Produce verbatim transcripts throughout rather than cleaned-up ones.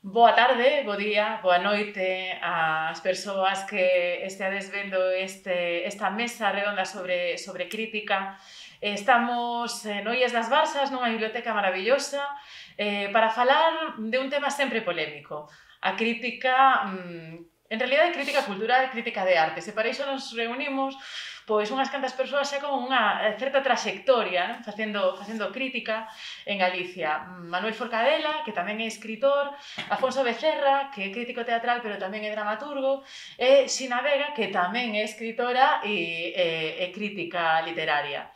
Boa tarde, bo día, boa noite ás persoas que esteades vendo este, esta mesa redonda sobre, sobre crítica. Estamos en Ollas das Barzas, nunha biblioteca maravillosa, eh, para falar de un tema sempre polémico. A crítica, mmm, en realidad, é crítica cultural, crítica de arte. Se para iso nos reunimos, pois unhas cantas persoas xa con unha certa traxectoria, non? Facendo, facendo crítica en Galicia. Manuel Forcadela, que tamén é escritor, Afonso Becerra, que é crítico teatral, pero tamén é dramaturgo, e Xina Vega, que tamén é escritora e, e, e crítica literaria.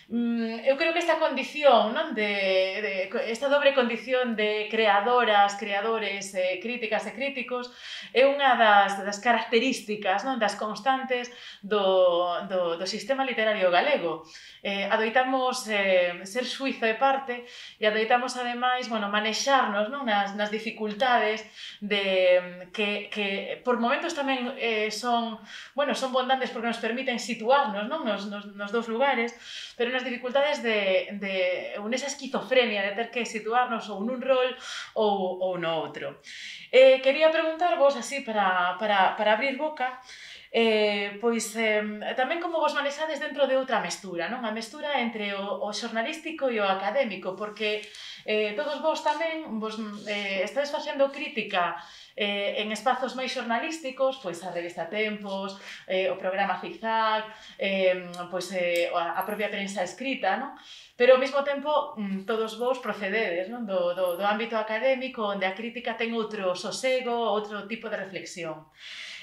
Eu creo que esta condición, non? De, de, esta dobre condición de creadoras, creadores, eh, críticas e críticos é unha das, das características, non? Das constantes do, do, do sistema literario galego. Eh, adoitamos eh, ser xuizo e parte e adoitamos, ademais, bueno, manexarnos, non? Nas, nas dificultades de, que, que por momentos tamén eh, son, bueno, son bondantes porque nos permiten situarnos, non? Nos, nos, nos dous lugares, pero nas dificultades de, de ou nesa esquizofrenia de ter que situarnos ou nun rol ou, ou no outro. Eh, quería preguntarvos, así, para, para, para abrir boca, eh, pois eh, tamén como vos manexades dentro de outra mestura, non? A mestura entre o, o xornalístico e o académico, porque eh, todos vos tamén vos, eh, estades facendo crítica eh, en espazos máis xornalísticos, pois a revista Tempos, eh, o programa Zigzag, eh, pois eh, a propia prensa escrita, non? Pero ao mesmo tempo todos vos procededes, non? Do, do, do ámbito académico, onde a crítica ten outro sosego, outro tipo de reflexión.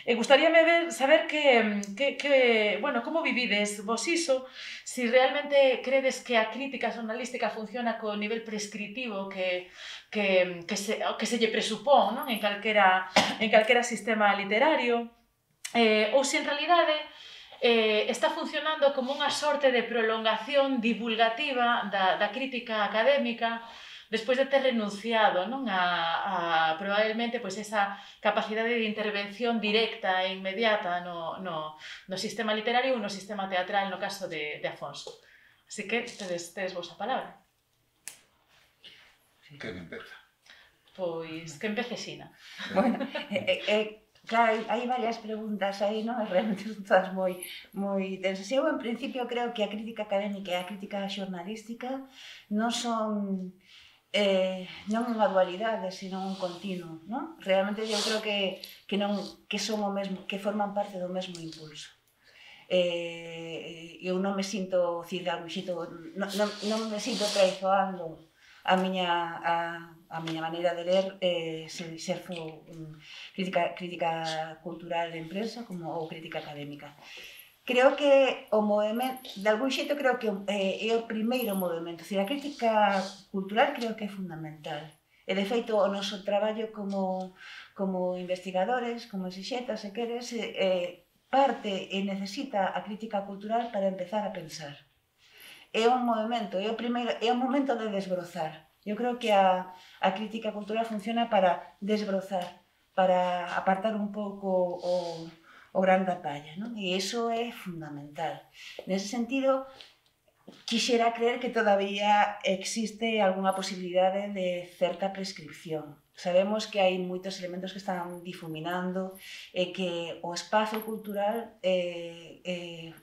E gustaríame ver, saber que, que, que, bueno, como vivides vos iso, si realmente credes que a crítica xornalística funciona co nivel prescritivo que, que, que, se, que se lle presupón, non? En calquera, en calquera sistema literario, eh, ou se en realidade eh, está funcionando como unha sorte de prolongación divulgativa da, da crítica académica despois de ter renunciado, non? A, a probablemente pois, esa capacidade de intervención directa e inmediata no, no, no sistema literario ou no sistema teatral, no caso de, de Afonso. Así que tedes, tedes vos a palabra. Quen empeza? Pois, que empece Xina. Bueno, eh, eh, claro, hai varias preguntas aí, non? Realmente son todas moi, moi tensas. Eu, en principio, creo que a crítica académica e a crítica xornalística non son eh, non unha dualidade, sino un continuo, non? Realmente eu creo que, que, non, que son o mesmo, que forman parte do mesmo impulso. Eh, eu non me sinto, cir, non, non, non me sinto traizoando a miña, a, a miña maneira de ler, eh, se xerzo um, crítica, crítica cultural de empresa como, ou crítica académica. Creo que o movimento, de algún xeito creo que eh, é o primeiro movimento, a crítica cultural creo que é fundamental. E de feito o noso traballo como, como investigadores, como exixetas, se queres, eh, parte e necesita a crítica cultural para empezar a pensar. É un movimento, é o primeiro, é o momento de desbrozar. Eu creo que a, a crítica cultural funciona para desbrozar, para apartar un pouco o o gran da palla, non? E iso é fundamental. Nese sentido, quixera creer que todavía existe algunha posibilidade de certa prescripción. Sabemos que hai moitos elementos que están difuminando e que o espazo cultural eh, eh,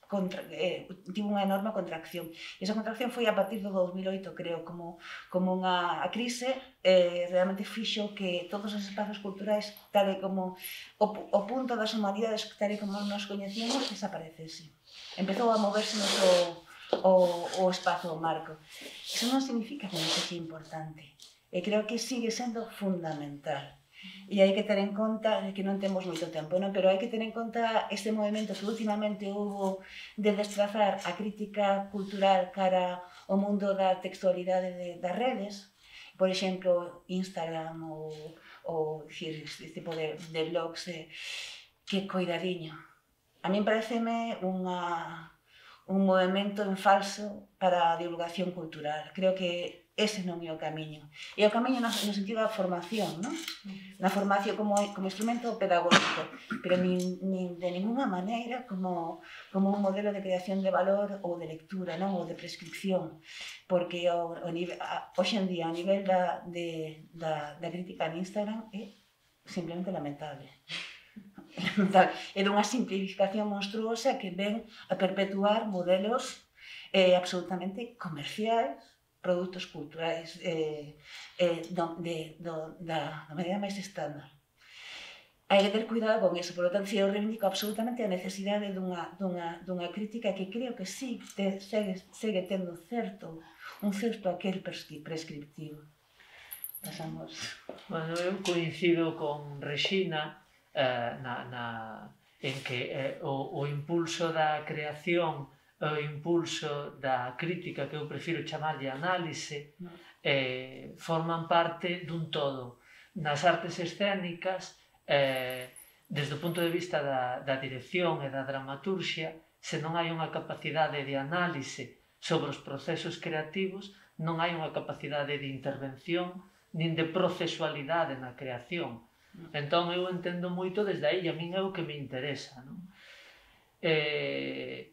Contra, eh, tivo unha enorme contracción. E esa contracción foi a partir do dos mil oito, creo, como, como unha a crise eh, realmente fixo que todos os espazos culturais, tal e como o, o punto das humanidades, tal e como nos coñecíamos, desaparecese. Empezou a moverse o, o, o espazo, o marco. Iso non significa que non sexa importante. E creo que sigue sendo fundamental. E hai que ter en conta que non temos moito tempo, non? Pero hai que ter en conta este movimento que últimamente houve de desplazar a crítica cultural cara ao mundo da textualidade de, das redes, por exemplo, Instagram ou, ou este tipo de, de blogs, eh, que coidadiño. A min pareceme unha, un movimento en falso para a divulgación cultural. Creo que ese non é o camiño. E o camiño no, no sentido da formación, non? Na formación como, como instrumento pedagógico, pero nin, nin de ninguna maneira como, como un modelo de creación de valor ou de lectura, non? Ou de prescripción. Porque o, o nivel, a, hoxe en día, a nivel da, de, da, da crítica en Instagram é simplemente lamentable. É dunha simplificación monstruosa que ven a perpetuar modelos eh, absolutamente comerciais, produtos culturais eh, eh, do, de, do, da, da maneira máis estándar. Hai que ter cuidado con eso, por lo tanto, eu reivindico absolutamente a necesidade dunha, dunha, dunha crítica que creo que sí te, segue, segue tendo certo, un certo aquel prescriptivo. Pasamos. Bueno, eu coincido con Rexina eh, na, na, en que eh, o, o impulso da creación, o impulso da crítica, que eu prefiro chamarlle análise, eh, forman parte dun todo. Nas artes escénicas, eh, desde o punto de vista da, da dirección e da dramaturxia, se non hai unha capacidade de análise sobre os procesos creativos, non hai unha capacidade de intervención nin de procesualidade na creación. Entón eu entendo moito desde aí, e a min é o que me interesa, non? Eh,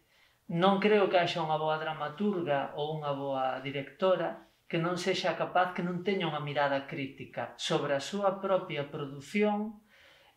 non creo que haxa unha boa dramaturga ou unha boa directora que non sexa capaz, que non teña unha mirada crítica sobre a súa propia produción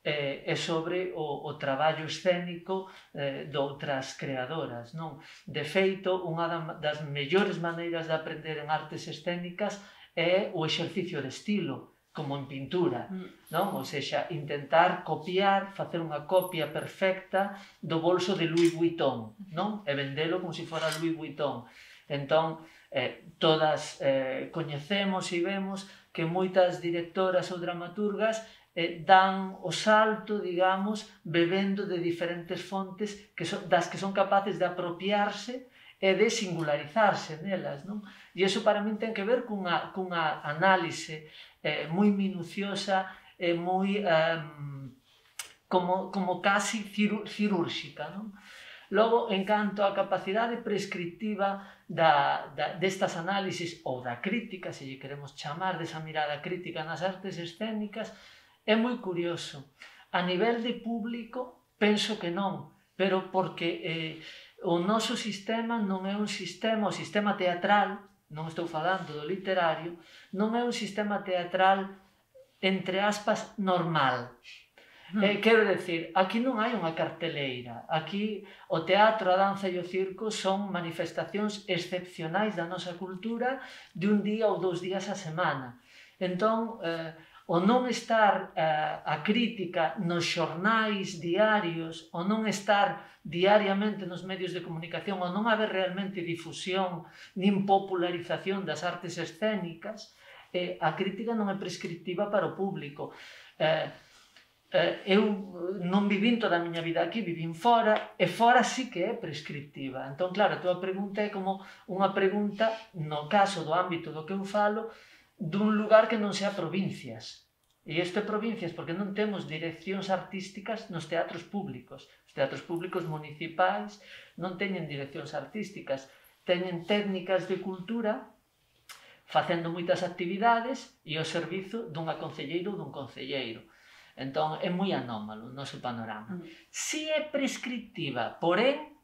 eh, e sobre o, o traballo escénico eh, de outras creadoras, non? De feito, unha das mellores maneiras de aprender en artes escénicas é o exercicio de estilo, como en pintura, non? Ou seja, intentar copiar, facer unha copia perfecta do bolso de Louis Vuitton, non? E vendelo como se fora Louis Vuitton. Entón, eh, todas eh, coñecemos e vemos que moitas directoras ou dramaturgas eh, dan o salto, digamos, bebendo de diferentes fontes que son, das que son capaces de apropiarse e de singularizarse nelas, non? E iso para min ten que ver cunha, cunha análise eh, moi minuciosa e moi eh, como, como casi cirúrxica, non? Logo, en canto á capacidade prescriptiva da, da, destas análisis ou da crítica, se lle queremos chamar, desa mirada crítica nas artes escénicas, é moi curioso. A nivel de público, penso que non, pero porque eh, o noso sistema non é un sistema, o sistema teatral, non estou falando do literario, non é un sistema teatral, entre aspas, normal. Mm. Eh, quero decir, aquí non hai unha carteleira, aquí o teatro, a danza e o circo son manifestacións excepcionais da nosa cultura de un día ou dous días a semana. Entón, eh, o non estar eh, a crítica nos xornais diarios, o non estar diariamente nos medios de comunicación, o non haber realmente difusión nin popularización das artes escénicas, eh, a crítica non é prescriptiva para o público. Eh, eh, eu non vivín toda a miña vida aquí, vivín fora, e fora sí que é prescriptiva. Entón, claro, a tua pregunta é como unha pregunta, no caso do ámbito do que eu falo, dun lugar que non sea provincias. E isto é provincias porque non temos direccións artísticas nos teatros públicos. Os teatros públicos municipais non teñen direccións artísticas, teñen técnicas de cultura facendo moitas actividades e ao servizo dunha concelleira ou dun concelleiro. Entón, é moi anómalo o noso panorama. Si é prescriptiva, porén,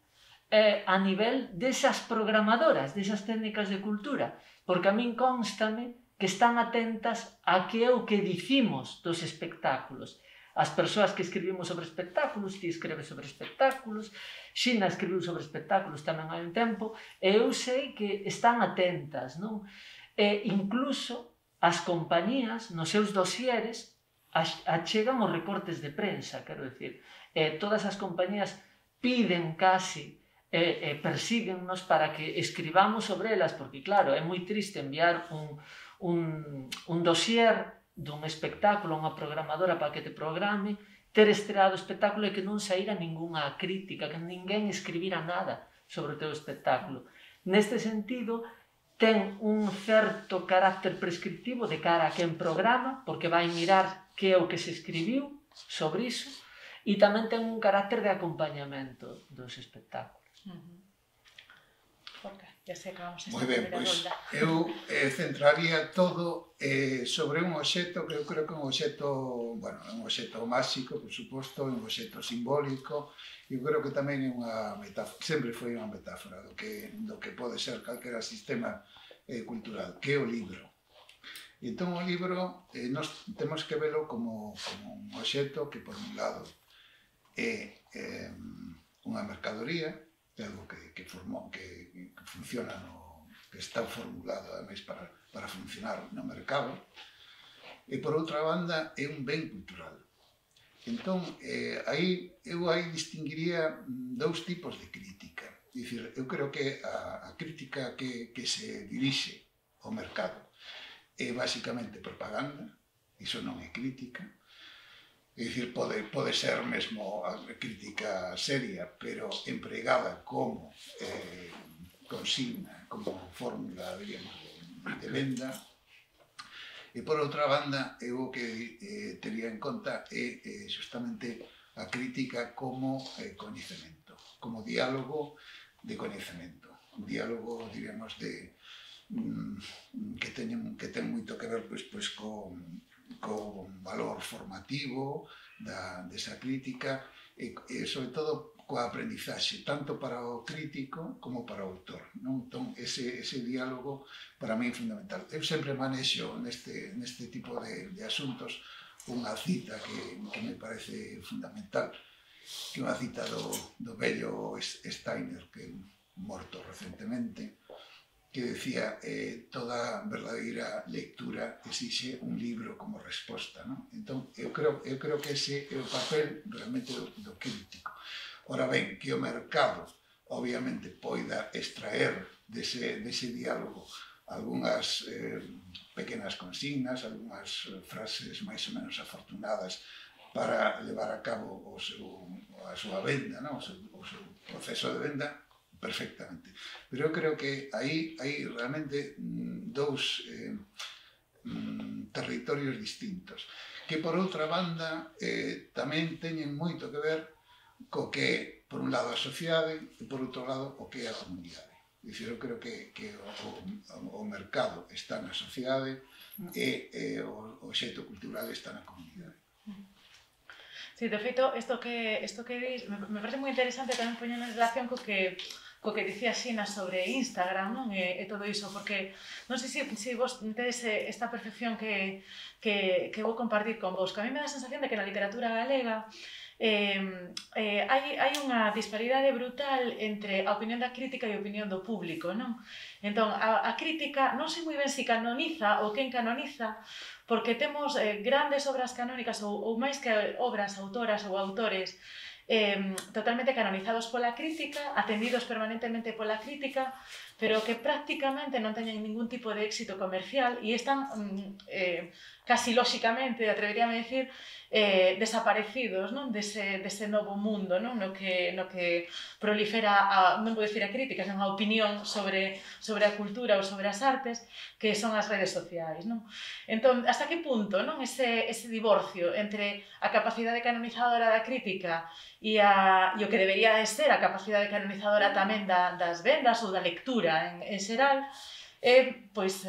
eh, a nivel desas programadoras, desas técnicas de cultura, porque a min constame que están atentas a que é o que dicimos dos espectáculos. As persoas que escribimos sobre espectáculos, ti escreves sobre espectáculos, Xina escribiu sobre espectáculos tamén hai un tempo, e eu sei que están atentas, non? E incluso as compañías, nos seus dosieres, achegan os recortes de prensa, quero dicir, e todas as compañías piden casi e, e persíguennos para que escribamos sobre elas, porque claro, é moi triste enviar un Un, un dossier dun espectáculo a unha programadora para que te programe, ter estreado o espectáculo e que non saíra ningunha crítica, que ninguén escribira nada sobre o teu espectáculo. Neste sentido, ten un certo carácter prescriptivo de cara a quen programa, porque vai mirar que é o que se escribiu sobre iso, e tamén ten un carácter de acompañamento dos espectáculos. Uh-huh. Jorge, ya se acabamos esta Moi ben, primeira pois ronda. eu eh, centraría todo eh, sobre un obxecto que eu creo que é un obxecto, bueno, é un obxecto máxico, por suposto, é un obxecto simbólico, e eu creo que tamén é unha metáfora, sempre foi unha metáfora do que, do que pode ser calquera sistema eh, cultural, que é o libro. E entón o libro eh, nos temos que velo como, como un obxecto que, por un lado, é eh, unha mercadoría, é algo que, que, formou, que, que funciona no, que está formulado ademais para, para funcionar no mercado, e por outra banda é un ben cultural. Entón, eh, aí, eu aí distinguiría dous tipos de crítica. É dicir, eu creo que a, a crítica que, que se dirixe ao mercado é basicamente propaganda, iso non é crítica. É dicir, pode, pode ser mesmo a crítica seria, pero empregada como eh, consigna, como fórmula, diríamos, de, de venda. E por outra banda, eu o que eh, tería en conta é eh, justamente a crítica como eh, coñecemento, como diálogo de coñecemento. Un diálogo, diríamos, de, mm, que, teñen, que ten moito que ver pois, pois, con con valor formativo da, desa crítica e, e sobre todo coa aprendizaxe, tanto para o crítico como para o autor. Non? Entón, ese, ese diálogo para mí é fundamental. Eu sempre manexo neste, neste tipo de, de asuntos unha cita que, que me parece fundamental, que é unha cita do, do vello Steiner, que é morto recentemente, que decía eh, toda verdadeira lectura exixe un libro como resposta, non? Entón, eu creo, eu creo que ese é o papel realmente do, do crítico. Ora ben, que o mercado obviamente poida extraer dese, dese diálogo algunhas eh, pequenas consignas, algunhas frases máis ou menos afortunadas para levar a cabo o seu, a súa venda, non? O, seu, o seu proceso de venda, perfectamente. Pero eu creo que aí hai realmente dous eh, territorios distintos, que por outra banda eh, tamén teñen moito que ver co que é, por un lado, a sociedade e por outro lado, o que é a comunidade. Dicir, eu creo que, que o, o, o mercado está na sociedade e, e o, o xeito cultural está na comunidade. Sí, de feito, isto que, isto que dis, me, me parece moi interesante tamén poñer en relación co que co que dicía Xina sobre Instagram, non? E, e todo iso, porque non sei se, se vos tedes esta percepción que, que, que vou compartir con vos, que a mí me dá a sensación de que na literatura galega eh, eh, hai, hai unha disparidade brutal entre a opinión da crítica e a opinión do público, non? Entón, a, a crítica non sei moi ben se canoniza ou quen canoniza, porque temos eh, grandes obras canónicas ou, ou máis que obras, autoras ou autores Eh, totalmente canonizados pola crítica, atendidos permanentemente pola crítica, pero que prácticamente non teñen ningún tipo de éxito comercial e están eh, casi lóxicamente, atreveríame a decir, eh, desaparecidos, non? Dese, dese novo mundo, non? No que, no que prolifera, a, non vou dicir a crítica, senón a opinión sobre, sobre a cultura ou sobre as artes, que son as redes sociais, non? Entón, hasta que punto, non? Ese, ese divorcio entre a capacidade canonizadora da crítica e, a, e o que debería de ser a capacidade canonizadora tamén da, das vendas ou da lectura en, en xeral, é, pois,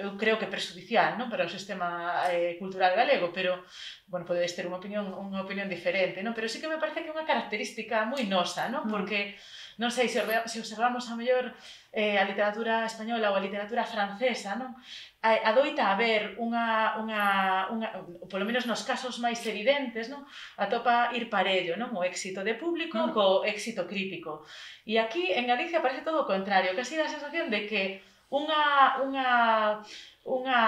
eu creo que prexudicial, non? Para o sistema eh, cultural galego, pero, bueno, podedes ter unha opinión, unha opinión diferente, non? Pero sí que me parece que é unha característica moi nosa, non? Porque, non sei, se observamos a mellor eh, a literatura española ou a literatura francesa, non? Adoita haber unha, unha, unha, polo menos nos casos máis evidentes, non? Atopa ir parello, non? O éxito de público mm. co éxito crítico. E aquí, en Galicia, parece todo o contrario, que así dá a sensación de que unha, unha, unha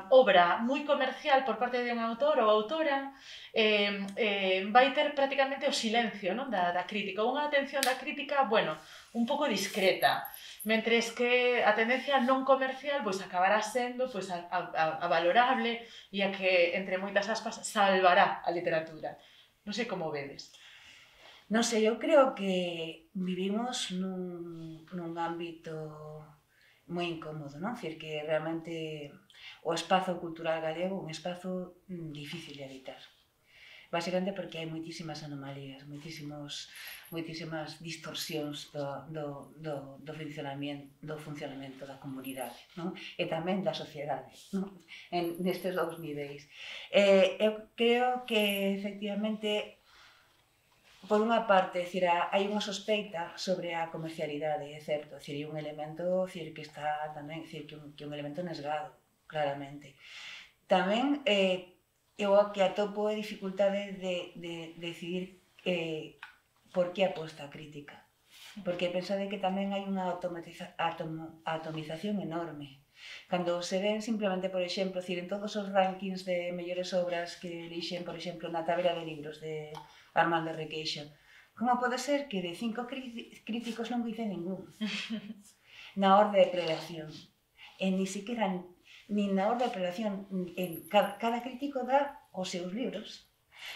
obra moi comercial por parte de un autor ou autora eh, eh, vai ter prácticamente o silencio, non? Da, da crítica, unha atención da crítica, bueno, un pouco discreta, mentres que a tendencia non comercial pois acabará sendo pois, a, a, a valorable e a que, entre moitas aspas, salvará a literatura. Non sei como vedes. Non sei, eu creo que vivimos nun, nun ámbito moi incómodo, non? Dicir que realmente o espazo cultural galego é un espazo difícil de habitar. Básicamente porque hai moitísimas anomalías, moitísimos, moitísimas distorsións do, do, do, do, funcionamento, do funcionamento da comunidade, non? E tamén da sociedade, non? En, nestes dous niveis. Eh, eu creo que, efectivamente, por unha parte, decir, hai unha sospeita sobre a comercialidade, é certo, decir, hai un elemento decir, que está tamén, decir, que un, que un elemento nesgado, claramente. Tamén, eh, eu que atopo a dificultade de, de, de decidir eh, por que aposta a crítica. Porque pensade que tamén hai unha automatiza, atom, atomización enorme. Cando se ven simplemente, por exemplo, decir, en todos os rankings de mellores obras que elixen, por exemplo, na tabela de libros de Armando Requeixo, como pode ser que de cinco críticos non dice ningún? Na orde de prelación. E ni siquiera, nin na orde de prelación, en cada, cada crítico dá os seus libros,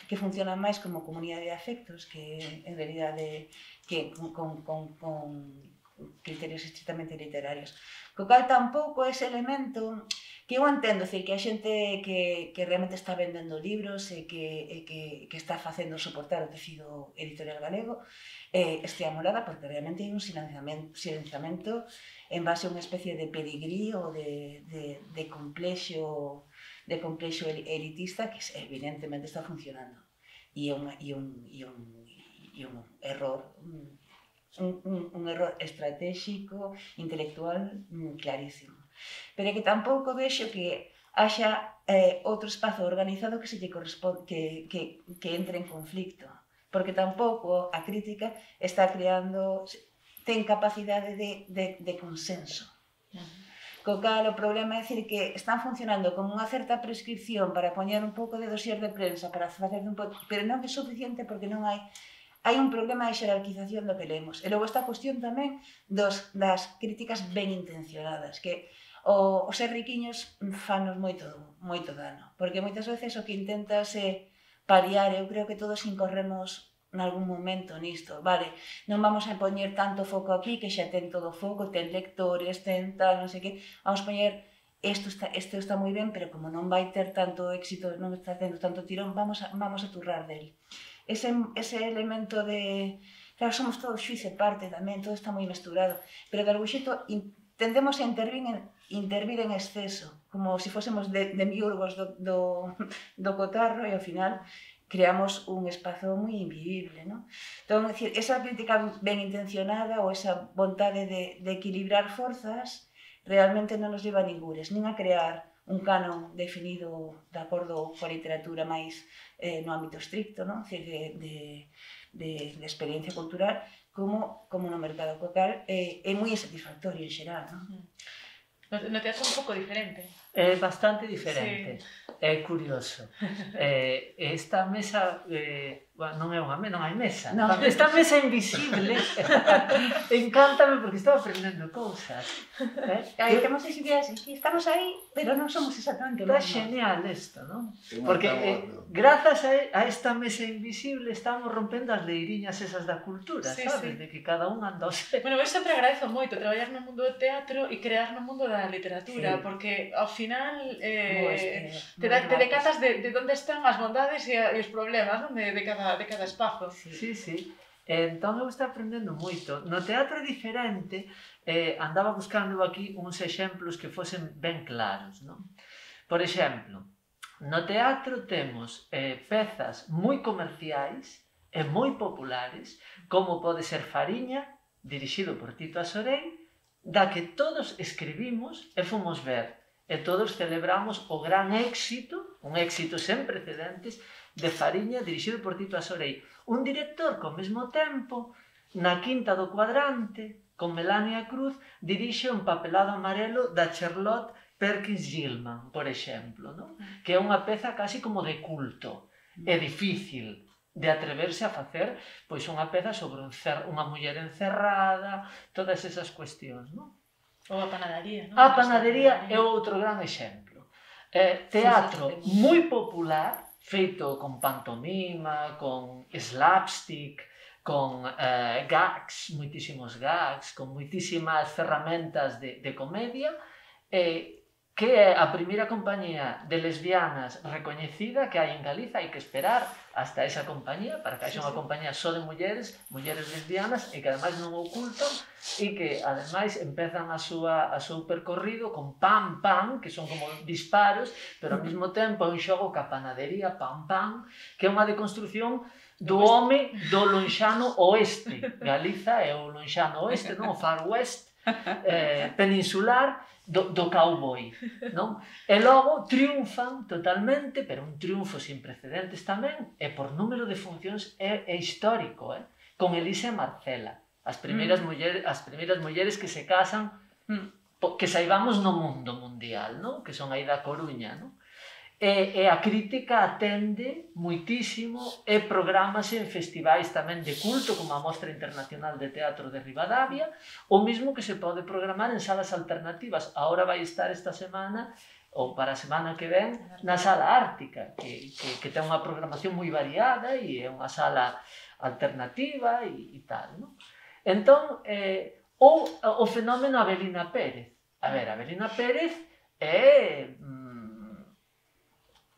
que funcionan máis como comunidade de afectos, que en realidade que con, con, con, con criterios estrictamente literarios. Co cal tampouco ese elemento que eu entendo, decir, que a xente que, que realmente está vendendo libros e que, e que, que está facendo soportar o tecido editorial galego eh, estea molada porque realmente hai un silenciamento, silenciamento en base a unha especie de pedigrí ou de, de, de complexo de complexo elitista que evidentemente está funcionando e é un, e un, e un, e un error un, un, un error estratégico, intelectual clarísimo. Pero que tampouco vexo que haxa eh, outro espazo organizado que se lle corresponde, que, que, que entre en conflicto, porque tampouco a crítica está creando, ten capacidade de, de, de consenso. Co cal o problema é dicir que están funcionando como unha certa prescripción para poñer un pouco de dosier de prensa, para facer un pouco, pero non é suficiente porque non hai hai un problema de xerarquización do que lemos. E logo esta cuestión tamén dos, das críticas ben intencionadas, que o, os ser riquiños fanos moito, moito dano, porque moitas veces o que intentas é paliar, eu creo que todos incorremos nalgún momento nisto, vale, non vamos a poñer tanto foco aquí, que xa ten todo foco, ten lectores, ten tal, non sei que, vamos a poñer, isto está, isto está moi ben, pero como non vai ter tanto éxito, non está tendo tanto tirón, vamos a, vamos a turrar del. Ese, ese elemento de, claro, somos todos xuiz e parte tamén, todo está moi mesturado, pero de algún xeito tendemos a intervir en, intervir en exceso, como se si fósemos de, de miurgos do, do, do cotarro e ao final creamos un espazo moi invivible, non? Entón, decir, esa crítica ben intencionada ou esa vontade de, de equilibrar forzas realmente non nos lleva a ningures, nin a crear un canon definido de acordo coa literatura máis eh, no ámbito estricto, non? De, de, de, de experiencia cultural, como, como no mercado, co cal eh, é moi insatisfactorio en xeral, non? No, no teatro é un pouco diferente. É bastante diferente. Sí. É curioso. Eh, esta mesa, eh, bueno, non é unha mesa, non hai mesa. No. Esta mesa invisible encántame porque estou aprendendo cousas. Eh? Aí temos as ideas, estamos aí, pero non somos exactamente Está genial isto, non? Porque eh, grazas a, a esta mesa invisible estamos rompendo as leiriñas esas da cultura, sí, sabes? Sí. De que cada un anda o seu. Bueno, eu sempre agradezo moito traballar no mundo do teatro e crear no mundo da literatura, sí. Porque ao final eh, te, da, te decatas de, de onde están as bondades e, a, e os problemas, non? De, de, cada, de cada espazo. Sí, sí, sí. Entón eu estou aprendendo moito. No teatro é diferente, eh, andaba buscando aquí uns exemplos que fosen ben claros, non? Por exemplo, no teatro temos eh, pezas moi comerciais e moi populares, como pode ser Fariña, dirixido por Tito Asorei, da que todos escribimos e fomos ver, e todos celebramos o gran éxito, un éxito sen precedentes, de Fariña, dirixido por Tito Asorei. Un director que ao mesmo tempo, na Quinta do Cuadrante, con Melania Cruz, dirixe un papelado amarelo da Charlotte Perkins Gilman, por exemplo, non? Que é unha peza casi como de culto. É difícil de atreverse a facer pois unha peza sobre un cer unha muller encerrada, todas esas cuestións, non? Ou a panadería, non? A panadería é outro gran exemplo. Eh, teatro moi popular, feito con pantomima, con slapstick, con eh, gags, moitísimos gags, con moitísimas ferramentas de, de comedia, eh, que é a primeira compañía de lesbianas recoñecida que hai en Galiza. Hai que esperar hasta esa compañía para que haxa unha compañía só de mulleres, mulleres lesbianas, e que ademais non ocultan, e que ademais empezan a súa a seu percorrido con pam pam, que son como disparos, pero ao mesmo tempo é un xogo ca panadería pam pam, que é unha deconstrución do home do lonxano oeste. Galiza é o lonxano oeste, non? O far west, eh, peninsular, do, do cowboy, non? E logo triunfan totalmente, pero un triunfo sin precedentes tamén, e por número de funcións é, é histórico, eh? Con Elisa e Marcela, as primeiras, mm. mulleres, as primeiras mulleres que se casan, mm. que saibamos no mundo mundial, non? Que son aí da Coruña, non? E, e a crítica atende moitísimo e programase en festivais tamén de culto, como a Mostra Internacional de Teatro de Ribadavia, o mismo que se pode programar en salas alternativas. Ahora vai estar esta semana, ou para a semana que ven, na Sala Ártica, que, que, que ten unha programación moi variada e é unha sala alternativa e, e tal, non? Entón, eh, ou o fenómeno Avelina Pérez. A ver, Avelina Pérez é...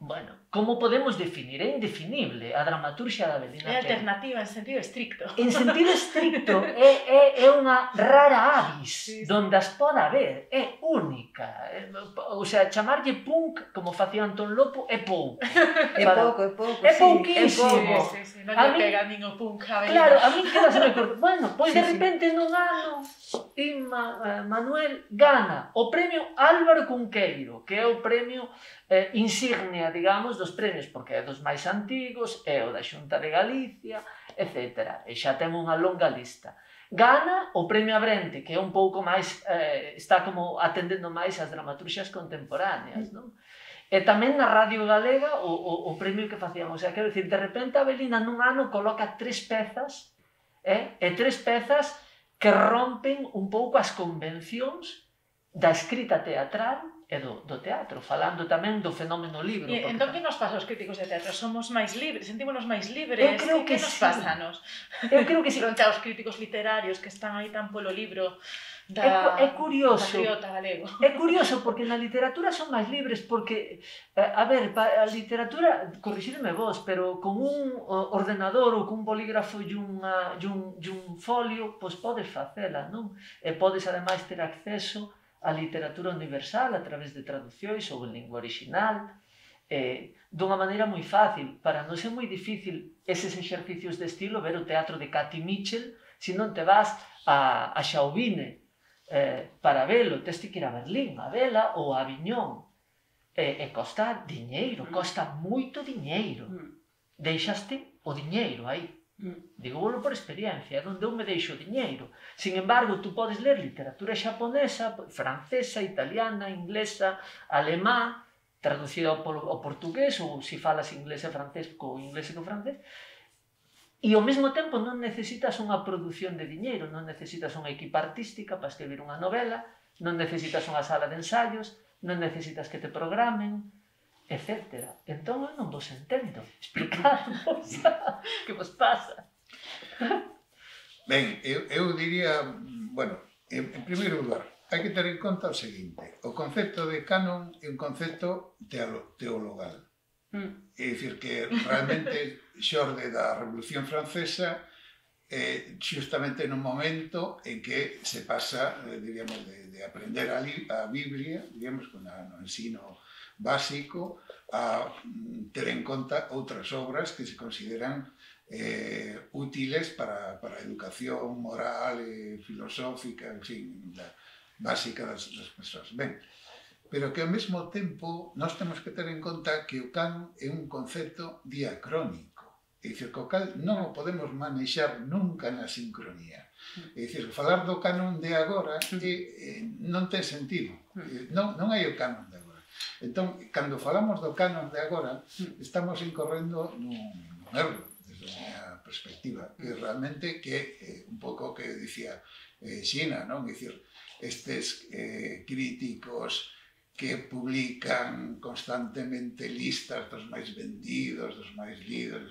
Bueno, como podemos definir? É indefinible a dramaturxia da Avelina Pérez. É alternativa en sentido estricto. En sentido estricto, é, é, é unha rara avis, sí, sí. Donde as poda haber, é única. É, o sea, chamarlle punk, como facía Antón Lopo, é pouco. É Para... pouco, é pouco, é sí. pouquísimo. Sí, sí, sí. Non lle pega nin o punk a Avelina. Claro, a mí queda se me corta. Bueno, pois sí, de repente sí. nun ano, Inma, eh, Manuel gana o premio Álvaro Cunqueiro, que é o premio eh, insignia, digamos, dos premios, porque é dos máis antigos, é o da Xunta de Galicia, etcétera. E xa ten unha longa lista. Gana o premio Abrente, que é un pouco máis, eh, está como atendendo máis as dramaturxias contemporáneas, non? E tamén na Radio Galega o, o, o premio que facían. O sea, quero dicir, de repente a Avelina nun ano coloca tres pezas, eh? e tres pezas que rompen un pouco as convencións da escrita teatral e do, do teatro, falando tamén do fenómeno libro. E porque... entón que nos pasa aos críticos de teatro? Somos máis libres, sentímonos máis libres? Eu creo que, que, que nos sí. pasa nos? Eu creo que sí. Fronte aos críticos literarios que están aí tan polo libro é, da, é curioso, patriota galego. É curioso porque na literatura son máis libres porque, a ver, a literatura, corrixideme vos, pero con un ordenador ou con un bolígrafo e unha, e un, e un folio, pois podes facela, non? E podes ademais ter acceso á literatura universal a través de traducións ou en lingua original, eh, dunha maneira moi fácil. Para non ser moi difícil eses exercicios de estilo, ver o teatro de Katy Mitchell, se non te vas a, a Xauvine, Eh, para velo, tes que ir a Berlín a vela ou a Aviñón, e, e costa diñeiro, costa moito diñeiro, deixaste o diñeiro aí, digo volo por experiencia, é onde eu me deixo o diñeiro. Sin embargo, tú podes ler literatura xaponesa, francesa, italiana, inglesa, alemá, traducida ao, ao portugués, ou se falas inglés e francés, co inglés e co francés. E ao mesmo tempo non necesitas unha produción de diñeiro, non necesitas unha equipa artística para escribir unha novela, non necesitas unha sala de ensaios, non necesitas que te programen, etcétera. Entón eu non vos entendo. Explicadvos que vos pasa. Ben, eu, eu diría, bueno, en, en primeiro lugar, hai que ter en conta o seguinte: o concepto de canon é un concepto teolo, teologal. Mm. É dicir, que realmente xorde da Revolución Francesa eh, xustamente nun momento en que se pasa, eh, diríamos, de, de aprender a, li, a Biblia, diríamos, con a, no ensino básico, a mm, ter en conta outras obras que se consideran eh, útiles para, para a educación moral e filosófica, en fin, da, básica das, das persoas. Ben, pero que ao mesmo tempo nós temos que ter en conta que o canon é un concepto diacrónico, é dicir, que o cal non o podemos manexar nunca na sincronía. É dicir, falar do canon de agora é, é, non ten sentido, non, non hai o canon de agora. Entón, cando falamos do canon de agora, estamos incorrendo nun, nun erro, desde a miña perspectiva, que realmente que é un pouco o que dicía eh, Xina, non? É dicir, estes eh, críticos que publican constantemente listas dos máis vendidos, dos máis lidos.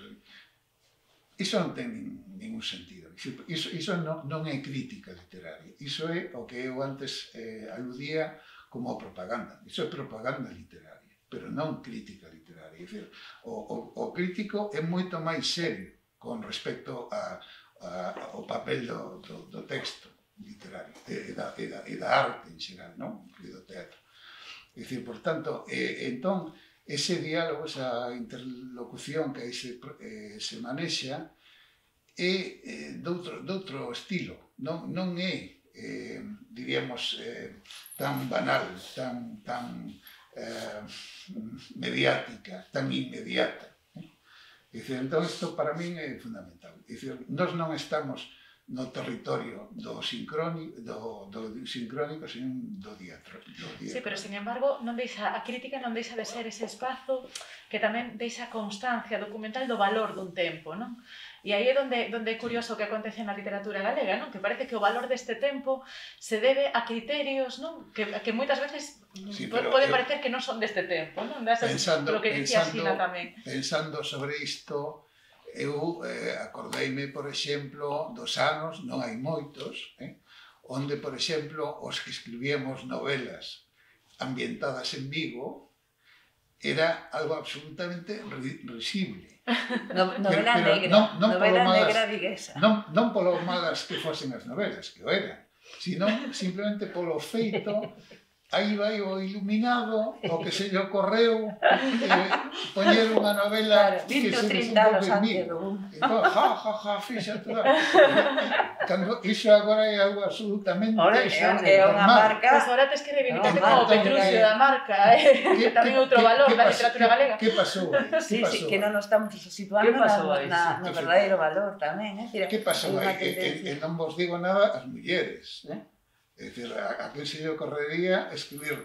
Iso non ten ningún sentido. Iso, iso non, non é crítica literaria. Iso é o que eu antes eh, aludía como propaganda. Iso é propaganda literaria, pero non crítica literaria. É dicir, o, o, o crítico é moito máis serio con respecto a, a, ao papel do, do, do texto literario e da, e, da, e da arte en xeral, non? E do teatro. É dicir, por tanto, eh, entón, ese diálogo, esa interlocución que aí se, eh, se manexa é eh, doutro, doutro estilo, non, non é, eh, diríamos, eh, tan banal, tan, tan eh, mediática, tan inmediata. Eh? É dicir, entón, isto para min é fundamental. É dicir, nós non estamos no territorio do sincrónico, do, do sincrónico, sino do diatro. Do diatro. Sí, pero, sin embargo, non deixa, a crítica non deixa de ser ese espazo que tamén deixa constancia documental do valor dun tempo, non? E aí é donde, donde é curioso o que acontece na literatura galega, non? Que parece que o valor deste tempo se debe a criterios, non? Que, que moitas veces sí, poden eu, parecer que non son deste tempo, non? Desas, pensando, lo que dicía pensando, Xina tamén. Pensando sobre isto, eu eh, acordeime, por exemplo, dos anos, non hai moitos, eh, onde, por exemplo, os que escribíamos novelas ambientadas en Vigo era algo absolutamente risible. No, novela pero, pero negra, non, non novela malas, negra viguesa. Non, non polo malas que fosen as novelas, que o eran, sino simplemente polo feito. Aí vai o iluminado, o que se lle ocorreu, eh, poñer unha novela claro, que se trinta anos antes. Entón, ja, ja, ja, fíxate. Cando iso agora é algo absolutamente Ahora, é unha marca. Pois agora tes que reivindicarte como Petruccio da marca, eh? Que tamén é outro valor da literatura galega. Que pasou aí? Sí, sí, que non nos estamos situando na, no verdadeiro valor tamén. Eh? Que pasou aí? E non vos digo nada as mulleres, eh? É dicir, a, a que se lle ocorrería escribir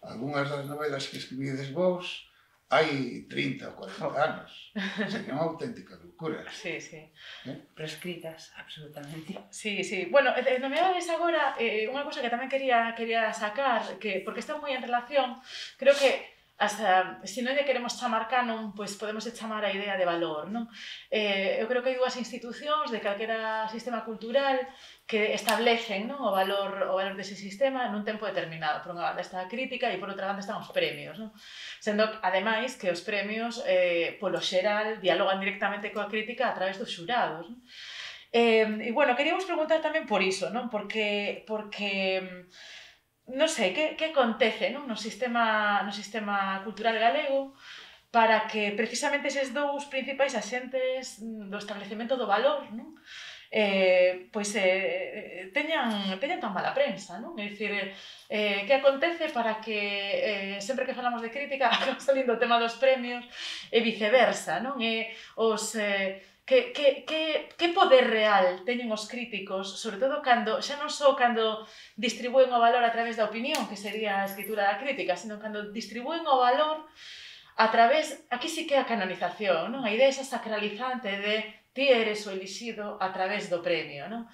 algunhas das novelas que escribides vos hai trinta ou cuarenta anos. Sería unha auténtica locura. Sí, sí. Eh? Prescritas, absolutamente. Sí, sí. Bueno, nomeades agora eh, unha cosa que tamén quería, quería sacar, que porque está moi en relación, creo que hasta, se non lle queremos chamar canon, pois podemos chamar a idea de valor, non? Eh, eu creo que hai dúas institucións de calquera sistema cultural que establecen, non, o valor o valor dese sistema nun tempo determinado. Por unha banda está a crítica e por outra banda están os premios, non? Sendo, ademais, que os premios, eh, polo xeral, dialogan directamente coa crítica a través dos xurados, non? Eh, e, bueno, queríamos preguntar tamén por iso, non? Porque, porque non sei, que, que acontece, non? No sistema, no sistema cultural galego para que precisamente eses dous principais axentes do establecemento do valor, non? Eh, pois eh, teñan, teñan tan mala prensa, non? É dicir, eh, que acontece para que eh, sempre que falamos de crítica acaba salindo o tema dos premios e viceversa, non? E os... Eh, Que, que, que, que poder real teñen os críticos, sobre todo cando, xa non só cando distribúen o valor a través da opinión, que sería a escritura da crítica, sino cando distribúen o valor a través, aquí sí que é a canonización, non? A idea esa sacralizante de ti eres o elixido a través do premio, non?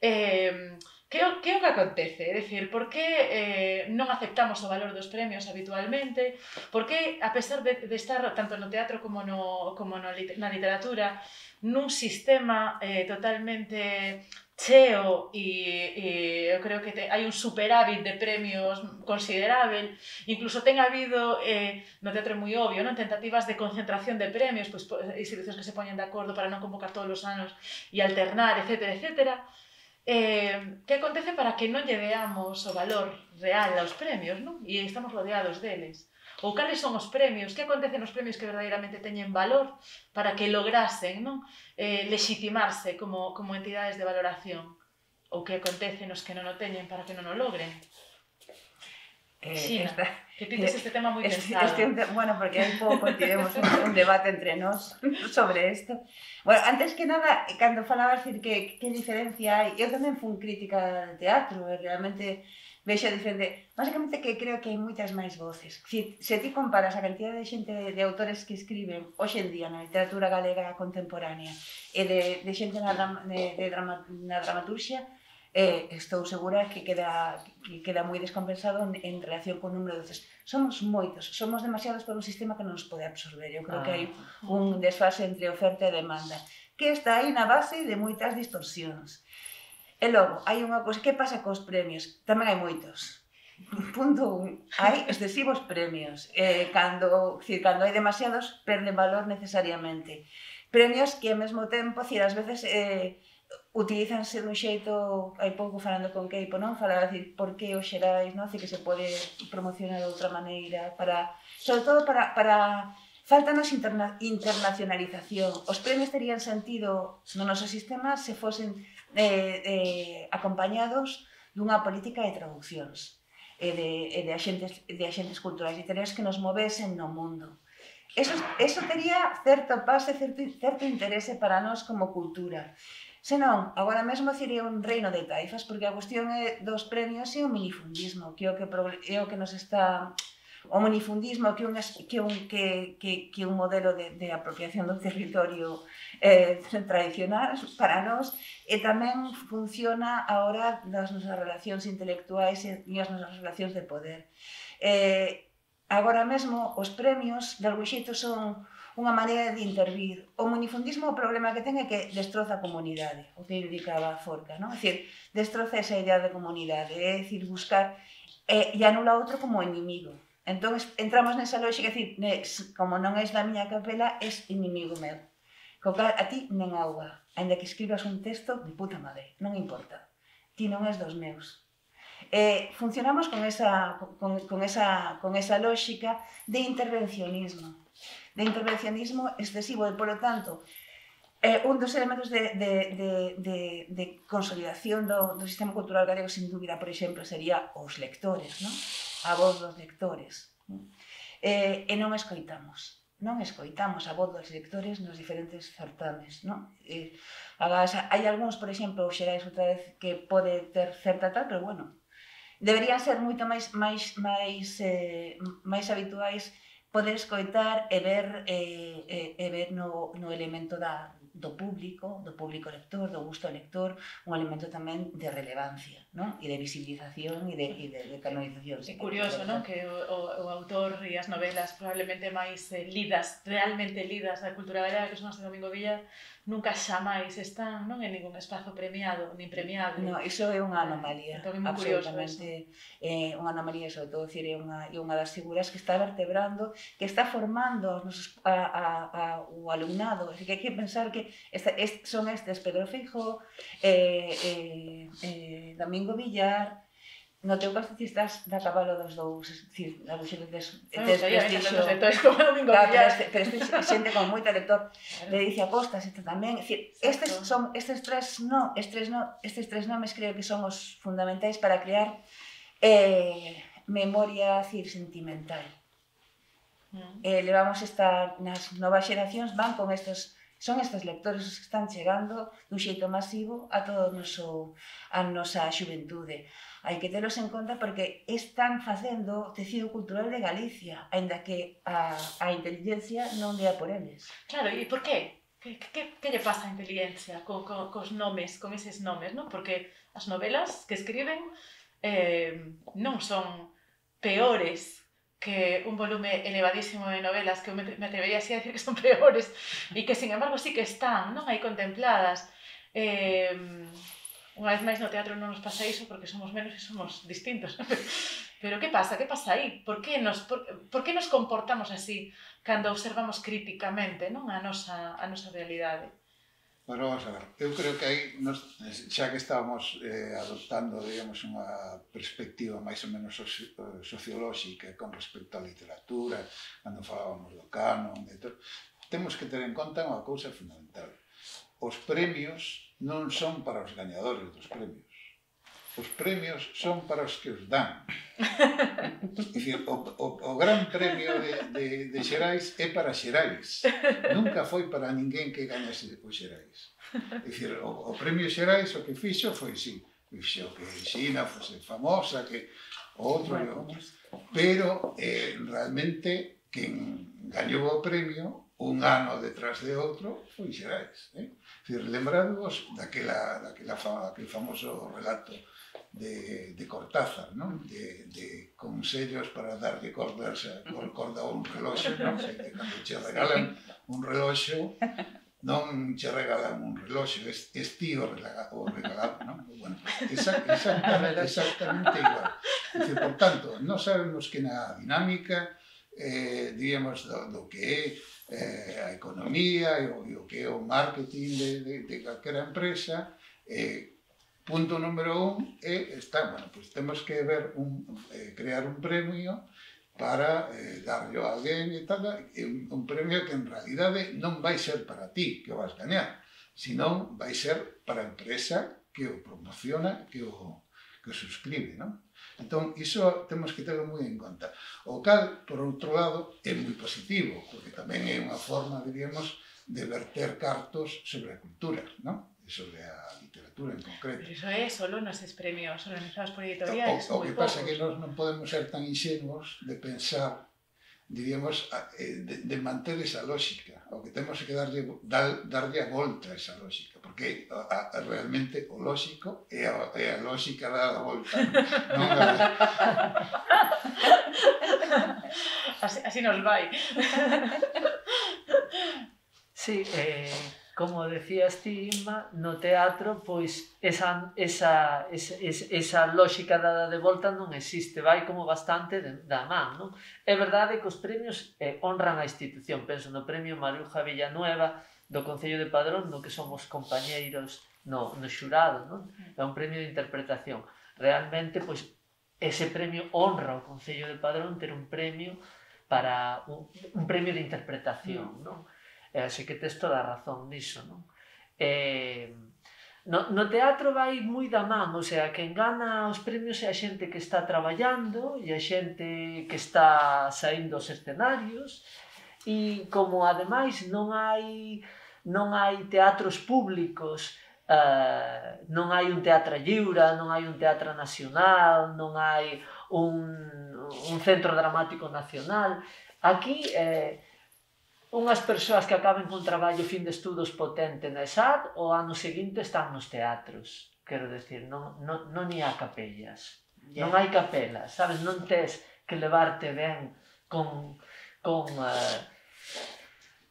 Eh, que, que é o que acontece? É dicir, por que eh, non aceptamos o valor dos premios habitualmente? Por que, a pesar de, de estar tanto no teatro como, no, como no, na literatura, nun sistema eh, totalmente cheo e, e eu creo que te, hai un superávit de premios considerável, incluso ten habido eh, no teatro moi obvio, non? Tentativas de concentración de premios, pois, institucións que se poñen de acordo para non convocar todos os anos e alternar, etcétera, etcétera. Eh, que acontece para que non lle veamos o valor real aos premios, non? E estamos rodeados deles. Ou cales son os premios, que acontece nos premios que verdadeiramente teñen valor para que lograsen, non? Eh, legitimarse como, como entidades de valoración, ou que acontece nos que non o teñen para que non o logren. Eh, Xina, esta, que pintes este tema moi este, pensado. Este, bueno, porque hai pouco tivemos un, un debate entre nós sobre isto. Bueno, antes que nada, cando falabas decir que, que diferencia hai, eu tamén fui crítica de teatro, e realmente vexo diferente. Basicamente que creo que hai moitas máis voces. Se, se ti comparas a cantidad de xente de, de autores que escriben hoxe en día na literatura galega contemporánea e de, de xente na, de, de drama, na dramaturxia, eh, estou segura que queda, que queda moi descompensado en, en relación con o número de voces. Somos moitos, somos demasiados por un sistema que non nos pode absorber. Eu creo ah. que hai un desfase entre oferta e demanda que está aí na base de moitas distorsións. E logo, hai unha cousa, que pasa cos premios? Tamén hai moitos. punto un, hai excesivos premios. Eh, cando, decir, cando hai demasiados, perden valor necesariamente. Premios que, ao mesmo tempo, decir, ás veces eh, utilízanse dun xeito, hai pouco falando con Keipo, non? Falaba, decir, por que os xerais, non? Decir, que se pode promocionar de outra maneira, para, sobre todo para, para faltanos interna, internacionalización. Os premios terían sentido no noso sistema se fosen eh, eh, acompañados dunha política de traduccións e de, e de, axentes, de axentes culturais literarios que nos movesen no mundo. Eso, eso tería certo pase, certo, certo interese para nós como cultura. Senón, agora mesmo sería un reino de taifas, porque a cuestión é dos premios e o minifundismo, que é o que, é o que nos está... O minifundismo que un, que un, que, que, que un modelo de, de apropiación do territorio eh, tradicional para nós e tamén funciona ahora nas nosas relacións intelectuais e nas nosas relacións de poder. Eh, agora mesmo os premios de algún xeito son unha maneira de intervir. O minifundismo o problema que ten é que destroza a comunidade, o que indicaba Forca, non? É dicir, destroza esa idea de comunidade, é dicir, buscar eh, e anula outro como enemigo. Entón, entramos nesa lógica, é dicir, como non és da miña capela, és inimigo meu. Co cal, a ti nen auga, ainda que escribas un texto de puta madre, non importa. Ti non és dos meus. Eh, funcionamos con esa, con, con, esa, con esa lógica de intervencionismo. De intervencionismo excesivo e, polo tanto, eh, un dos elementos de, de, de, de, de consolidación do, do sistema cultural galego, sin dúbida, por exemplo, sería os lectores, non? A voz dos lectores. Eh, e non escoitamos. Non escoitamos a voz dos lectores nos diferentes certames, non? Eh, agás, hai algúns, por exemplo, o Xerais outra vez, que pode ter certa tal, pero bueno, deberían ser moito máis, máis, máis, eh, máis habituais poder escoitar e ver, eh, eh, e ver no, no elemento da, do público, do público lector, do gusto lector, un elemento tamén de relevancia, non? E de visibilización e de, e de, de canonización. É curioso, non? Que o, o, o autor e as novelas probablemente máis eh, lidas, realmente lidas da cultura galega, que son as de Domingo Villar, nunca xamais están, non, en ningún espazo premiado, nin premiado. No, iso é unha anomalía, entón, é moi curioso absolutamente é unha anomalía, sobre todo, é unha, é unha das figuras que está vertebrando, que está formando os, a, a, a, o alumnado, que hai que pensar que esta, est, son estes Pedro Feijó, eh, eh, eh, Domingo Villar. No teu caso ti estás da cabalo dos dous, é dicir, a luxe de tes prestixio. Como Domingo Villar. Pero este xente con moito lector, de Edicia Costas, este tamén, é dicir, estes son estes tres no, estes no, estes tres nomes creo que son os fundamentais para crear eh, memoria, dicir, sentimental. Mm. Eh, levamos esta, nas novas xeracións van con estes, son estes lectores os que están chegando dun xeito masivo a todo o noso, a nosa xuventude. Hai que telos en conta porque están facendo o tecido cultural de Galicia, aínda que a, a inteligencia non dea por eles. Claro, e por qué? Que, que, que lle pasa a inteligencia co, co, cos nomes, con eses nomes, non? Porque as novelas que escriben eh, non son peores que un volume elevadísimo de novelas que me, me atrevería así a decir que son peores e que, sin embargo, sí que están, non? Aí contempladas. Eh, Unha vez máis no teatro non nos pasa iso porque somos menos e somos distintos. Pero que pasa? Que pasa aí? Por que nos, por, por que nos comportamos así cando observamos críticamente, non, a nosa, a nosa realidade? Bueno, vamos a ver. Eu creo que aí, nos, xa que estábamos eh, adoptando, digamos, unha perspectiva máis ou menos soci, sociolóxica con respecto á literatura, cando falábamos do canon, de todo, temos que ter en conta unha cousa fundamental. Os premios non son para os gañadores dos premios. Os premios son para os que os dan. É dicir, o, o, o gran premio de, de, de Xerais é para Xerais. Nunca foi para ninguén que gañase o Xerais. É dicir, o, o premio Xerais o que fixo foi, sí, fixo que Xina fose famosa, que o outro e outro. Pero, eh, realmente, quen gañou o premio un ano detrás de outro foi Xerais. Eh? Dicir, lembrádevos daquela, daquela fama, daquele famoso relato de, de Cortázar, non? De, de consellos para dar de cordas, corda a un reloxo, non? Que cando che regalan un reloxo, non che regalan un reloxo, es, es ti o regalado, non? Bueno, esa, exactamente, exactamente igual. Dice, por tanto, non sabemos que na dinámica, eh, digamos, do, do que é eh, a economía e o, e o que é o marketing de, de, de calquera empresa, eh, punto número un é, está, bueno, pues temos que ver un, eh, crear un premio para eh, darlo a alguén e tal, e un, un premio que en realidade non vai ser para ti que o vas gañar, senón vai ser para a empresa que o promociona, que o, que o suscribe, non? Entón, iso temos que terlo moi en conta. O cal, por outro lado, é moi positivo, porque tamén é unha forma, diríamos, de verter cartos sobre a cultura, non? E sobre a literatura en concreto. Pero iso é solo noses premios organizados por editoriais, O, o moi que pasa é poucos. que nós non podemos ser tan ingenuos de pensar, diríamos, de, de manter esa lógica. O que temos que darlle, dar, darlle a volta a esa lógica, porque a, a, realmente o lógico é a, é a lógica da volta. Non a... así, así nos vai. Sí, eh, como decías ti, Inma, no teatro, pois, esa, esa, esa, esa lógica dada de volta non existe, vai como bastante de, da man, non? É verdade que os premios eh, honran a institución, penso no premio Maruja Villanueva do Concello de Padrón, no que somos compañeiros no, no xurado, non? É un premio de interpretación. Realmente, pois, ese premio honra ao Concello de Padrón ter un premio para un, un premio de interpretación, non? E así que tes toda a razón niso, non? Eh, no, no teatro vai moi da man, o sea, quen gana os premios é a xente que está traballando e a xente que está saindo aos escenarios, e como ademais non hai non hai teatros públicos, uh, non hai un teatro lliure, non hai un teatro nacional, non hai un, un centro dramático nacional, aquí eh, unhas persoas que acaben con traballo fin de estudos potente na E S A D o ano seguinte están nos teatros. Quero decir, non, non, non hai capellas, yeah. Non hai capelas, sabes? Non tes que levarte ben con, con, uh,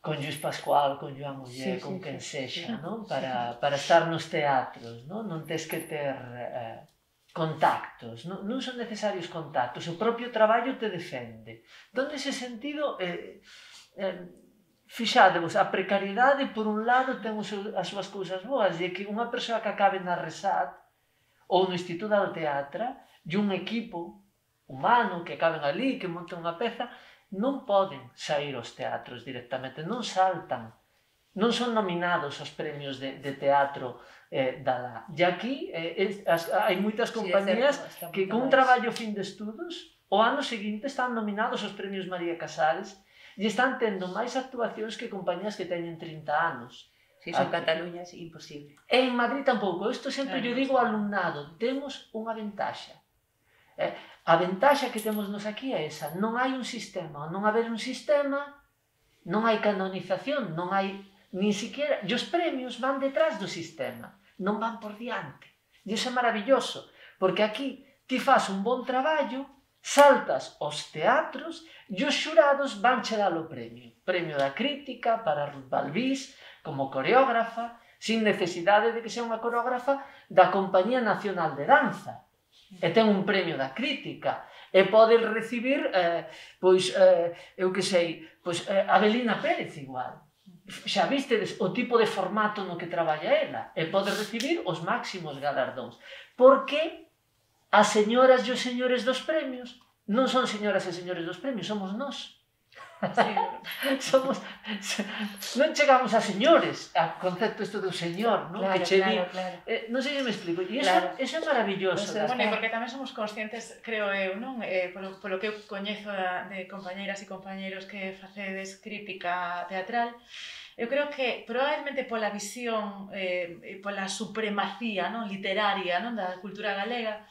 con Lluís Pascual, con Joan Ollé, sí, con sí, quen sí, sexa, sí, non? Para, sí. Para estar nos teatros, non? Non tes que ter uh, contactos, non, non son necesarios contactos, o propio traballo te defende. Entón, nese sentido, eh, eh, fixadevos, a precariedade por un lado ten as súas cousas boas, e que unha persoa que acabe na Resat ou no Instituto do Teatro e un equipo humano que acaben ali, que monten unha peza, non poden sair aos teatros directamente, non saltan, non son nominados aos premios de, de teatro eh, da lá. E aquí eh, as, hai moitas compañías sí, que con un traballo fin de estudos o ano seguinte están nominados aos premios María Casares e están tendo máis actuacións que compañías que teñen trinta anos. Si son Cataluña, é imposible. E en Madrid tampouco. Isto sempre yo digo ao alumnado. Temos unha ventaxa. Eh, a ventaxa que temos nos aquí é esa. Non hai un sistema. Non haber un sistema, non hai canonización, non hai nin siquiera... E os premios van detrás do sistema. Non van por diante. E iso é maravilloso. Porque aquí ti faz un bon traballo, saltas aos teatros e os xurados van che dar o premio. Premio da crítica para Ruth Balbís como coreógrafa, sin necesidade de que sea unha coreógrafa da Compañía Nacional de Danza. E ten un premio da crítica. E pode recibir, eh, pois, eh, eu que sei, pois, eh, Avelina Pérez igual. Xa vistedes o tipo de formato no que traballa ela. E pode recibir os máximos galardóns. Porque as señoras e os señores dos premios non son señoras e señores dos premios, somos nós. Sí. Somos, non chegamos a señores, a concepto isto do señor, non? Claro, que che claro, di, claro. Eh, non sei se me explico, e iso, claro. Eso é maravilloso. Pues, bueno, porque tamén somos conscientes, creo eu, non? Eh, polo, polo que eu coñezo de compañeiras e compañeiros que facedes crítica teatral, eu creo que probablemente pola visión, eh, pola supremacía, non, literaria, non, da cultura galega,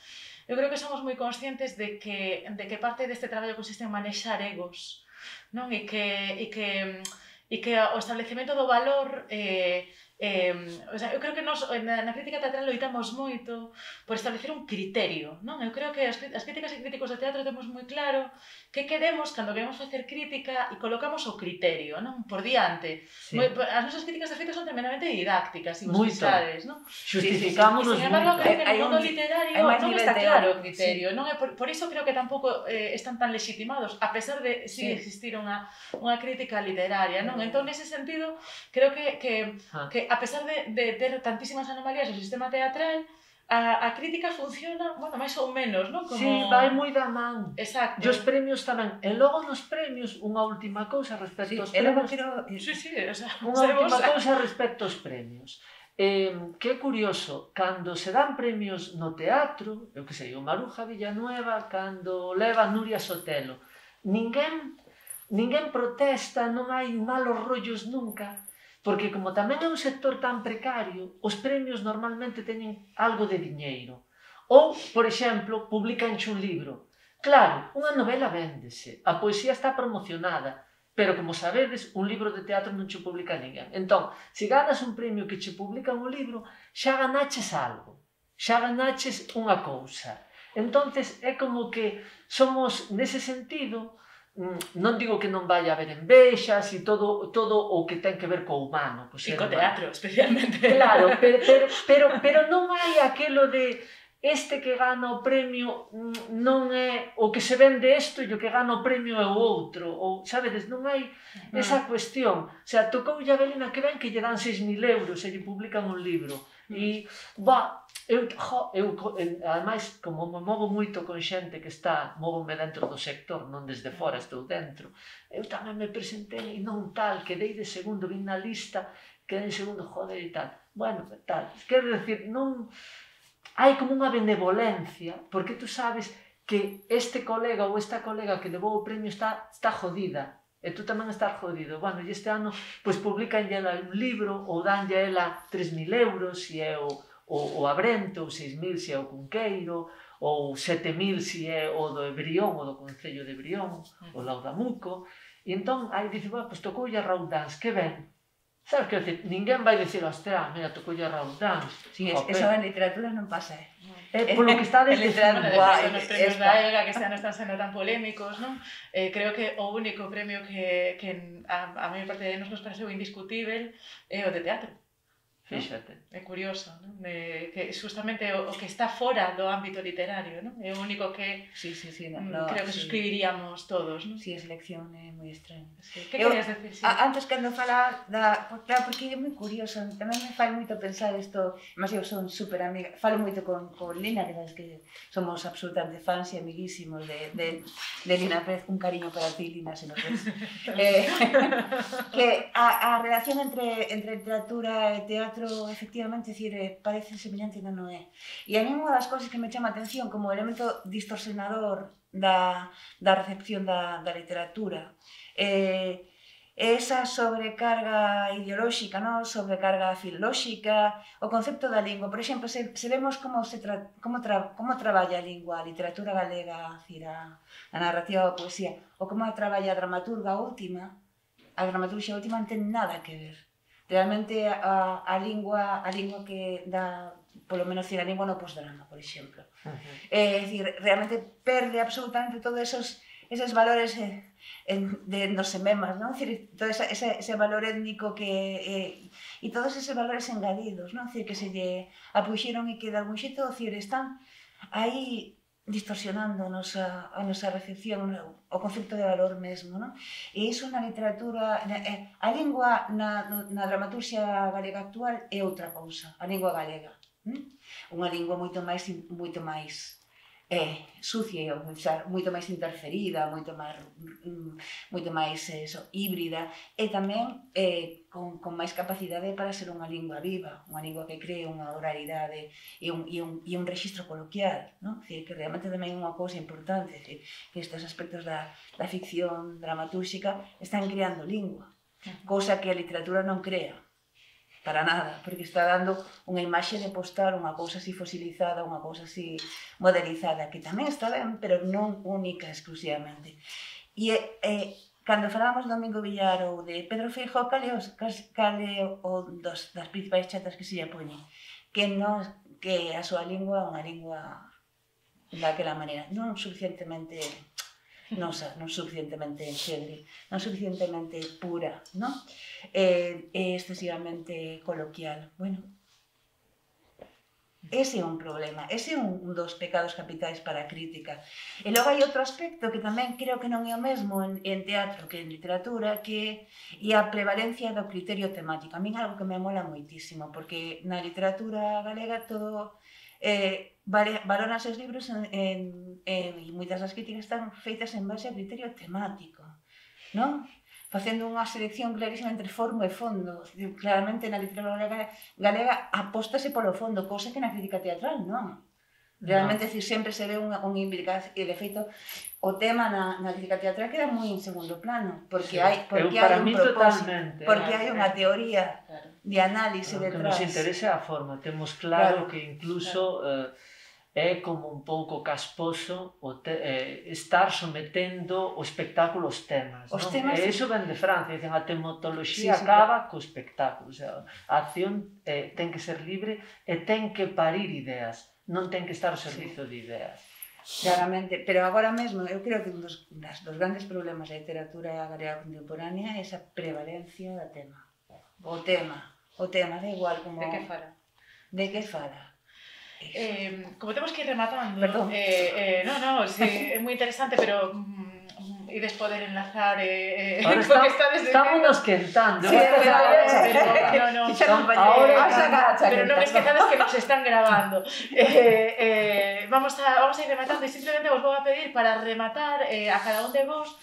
eu creo que somos moi conscientes de que, de que parte deste traballo consiste en manexar egos, non? E que, e que, e que o establecemento do valor eh, Eh, o sea, eu creo que nos na, na crítica teatral loitamos moito por establecer un criterio, non? Eu creo que as, as críticas e críticos de teatro temos moi claro que queremos cando queremos facer crítica e colocamos o criterio, non? Por diante. Sí. Moi, as nosas críticas de feito son tremendamente didácticas, e vos Moito. pensades, non? Xustificámonos Sí, sí, sí. E, sin embargo, moito. creo que Hai no mundo un- literario hai máis non nivel está teórico, claro o criterio, sí. non? E por, por iso creo que tampouco eh, están tan legitimados, a pesar de si Sí. existir unha, unha crítica literaria, non? Entón, nese sentido, creo que, que, Ah. que a pesar de, de ter tantísimas anomalías no sistema teatral, a, a crítica funciona, bueno, máis ou menos, non? Como... Sí, vai moi da man. Exacto. E os premios tamén. E logo nos premios, unha última cousa respecto Sí, aos e logo premios. quero... Sí, sí, o sea, Unha sabemos... última cousa respecto aos premios. Eh, que é curioso, cando se dan premios no teatro, eu que sei, o Maruja Villanueva, cando leva Nuria Sotelo, ninguén, ninguén protesta, non hai malos rollos nunca, porque como tamén é un sector tan precario, os premios normalmente teñen algo de diñeiro. Ou, por exemplo, publicanche un libro. Claro, unha novela véndese, a poesía está promocionada, pero, como sabedes, un libro de teatro non che publica ninguén. Entón, se ganas un premio que che publican un libro, xa ganaches algo, xa ganaches unha cousa. Entonces, é como que somos, nese sentido, non digo que non vai haber envexas e todo, todo o que ten que ver co humano. E co teatro, especialmente. Claro, pero, pero, pero, pero non hai aquelo de... este que gana o premio non é o que se vende isto e o que gana o premio é o outro, ou, sabedes, non hai esa cuestión. O sea, tocou a Belena que ven que lle dan seis mil euros e lle publican un libro. E, ba, eu, jo, eu, ademais, como me movo moito con xente que está, móvome dentro do sector, non desde fora, estou dentro, eu tamén me presentei e non tal, quedei de segundo, vin na lista, quedei en segundo, joder e tal. Bueno, tal, quero decir, non... hai como unha benevolencia, porque tú sabes que este colega ou esta colega que levou o premio está, está jodida, e tú tamén estás jodido. Bueno, e este ano, pois, publican ela un libro, ou danlle a ela tres mil euros, se é o, o, o Abrento, ou seis mil se é o Cunqueiro, ou sete mil se é o do Ebrión, o do Concello de Ebrión, o Laudamuco, e entón, aí dice, bueno, pois tocou a Raúl Dans, que ben. Sabes que decir, ninguén vai dicir, hostia, mira, tocou a Raúl Dans. Sí, es, eso en literatura non pasa, eh? É polo que está En literatura, dicindo. bueno, despois, os premios da Elga que este ano están sendo tan polémicos, non? Eh, creo que o único premio que, que a, a maior parte de nos nos pareceu indiscutível é o de teatro. Fíxate. É curioso, non? De, que justamente o, o que está fora do ámbito literario, non? É o único que Sí, sí, sí, no, mm, no, creo que sí. suscribiríamos todos, non? Sí, a selección é moi extraña. Sí. Que Eu- querías decir? Sí. A, antes cando fala da... por- Claro, porque é moi curioso, tamén me fai moito pensar isto, mas eu son super amiga, falo moito con, con Lina, que sabes que somos absolutamente fans e amiguísimos de, de, de Lina Pérez, un cariño para ti, Lina, se nos ves. eh, que a, a relación entre, entre literatura e teatro, efectivamente, decir, eh, parece semellante e non o é. E a mí unha das cousas que me chama a atención como elemento distorsionador da, da recepción da, da literatura eh, esa sobrecarga ideolóxica, no? Sobrecarga filolóxica, o concepto da lingua. Por exemplo, se, se vemos como, se tra, como, tra, como traballa a lingua, a literatura galega, a, a narrativa ou a poesía, ou como a traballa a dramaturga última, a dramaturgia última non ten nada que ver. Realmente a, a lingua a lingua que dá, polo menos a lingua no posdrama, por exemplo. Uh-huh. É dicir, realmente perde absolutamente todos esos esos valores eh, en, de nos sememas, non? Dicir, todo esa, ese, ese valor étnico que eh, e todos esos valores engadidos, non? Dicir, que se lle apuxeron e que de algún xeito, dicir, están aí distorsionando a nosa, a nosa recepción, o concepto de valor mesmo, non? E iso na literatura, na, eh, a lingua na, na dramaturxia galega actual é outra cousa, a lingua galega. Hm? Unha lingua moito máis, moito máis eh, sucia, moito máis interferida, moito máis, moito máis eso, híbrida, e tamén eh, con, con máis capacidade para ser unha lingua viva, unha lingua que cree unha oralidade e un, e un, e un registro coloquial, non? Que realmente tamén é unha cousa importante, que, que estes aspectos da, da ficción dramatúrxica están creando lingua, cousa que a literatura non crea. Para nada, porque está dando unha imaxe de postar unha cousa así fosilizada, unha cousa así modelizada, que tamén está ben, pero non única exclusivamente. E, eh, cando falamos do Domingo Villar ou de Pedro Feijóo, cal é, os, cal é o dos, das principais chatas que se lle poñen? Que, non, que a súa lingua é unha lingua daquela maneira, non suficientemente nosa, non suficientemente enxedre, non suficientemente pura, non? É, é excesivamente coloquial. Bueno, ese é un problema, ese é un, un dos pecados capitais para a crítica. E logo hai outro aspecto que tamén creo que non é o mesmo en, en teatro que en literatura, que é a prevalencia do criterio temático. A min é algo que me mola moitísimo, porque na literatura galega todo eh, valóranse os libros en, en, en, e moitas das críticas están feitas en base a criterio temático, non? Facendo unha selección clarísima entre forma e fondo. Claramente na literatura galega, galega apóstase polo fondo, cousa que na crítica teatral non. Realmente, no. Decir, sempre se ve unha, unha implicación, e de feito, o tema na, na crítica teatral queda moi en segundo plano, porque sí. hai, porque Eu, hai un propósito, porque eh, hai unha teoría claro. de análise detrás. O que detrás. nos interesa a forma, temos claro, claro. que incluso... Claro. Eh, é como un pouco casposo o te, eh, estar sometendo o espectáculo aos temas, os non? temas E iso ven de Francia, dicen, a tematoloxía sí, sí, acaba sí. co espectáculo, o sea, a acción eh, ten que ser libre e ten que parir ideas, non ten que estar ao servizo sí. de ideas. Claramente, pero agora mesmo, eu creo que un dos, das, dos grandes problemas da literatura galega contemporánea é esa prevalencia do tema. O tema, o tema, da igual como... De que fala? De que fala? Eh, como temos que ir rematando, Perdón. eh, eh, no, no, sí, é moi interesante, pero mm, ides poder enlazar eh, eh, co que estades dicindo. Estámonos quentando. Sí, pero, no, no, ahora, pero non me esquezades que nos están grabando. Eh, eh, vamos, a, vamos a ir rematando e simplemente vos vou a pedir para rematar eh, a cada un de vos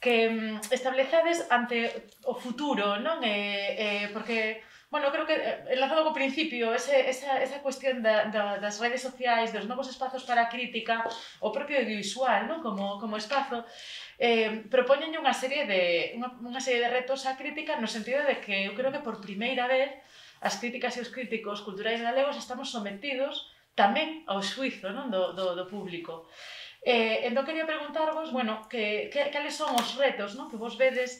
que mm, establezades ante o futuro, non? Eh, eh, porque... Bueno, creo que, enlazado co principio, ese, esa, esa cuestión da, da, das redes sociais, dos novos espazos para a crítica, o propio audiovisual, ¿no? como, como espazo, eh, propoñen unha serie de unha, unha serie de retos á crítica no sentido de que eu creo que por primeira vez as críticas e os críticos culturais galegos estamos sometidos tamén ao xuizo, non? Do, do, do público. Eh, entón quería preguntarvos, bueno, que, que, cales son os retos, non? Que vos vedes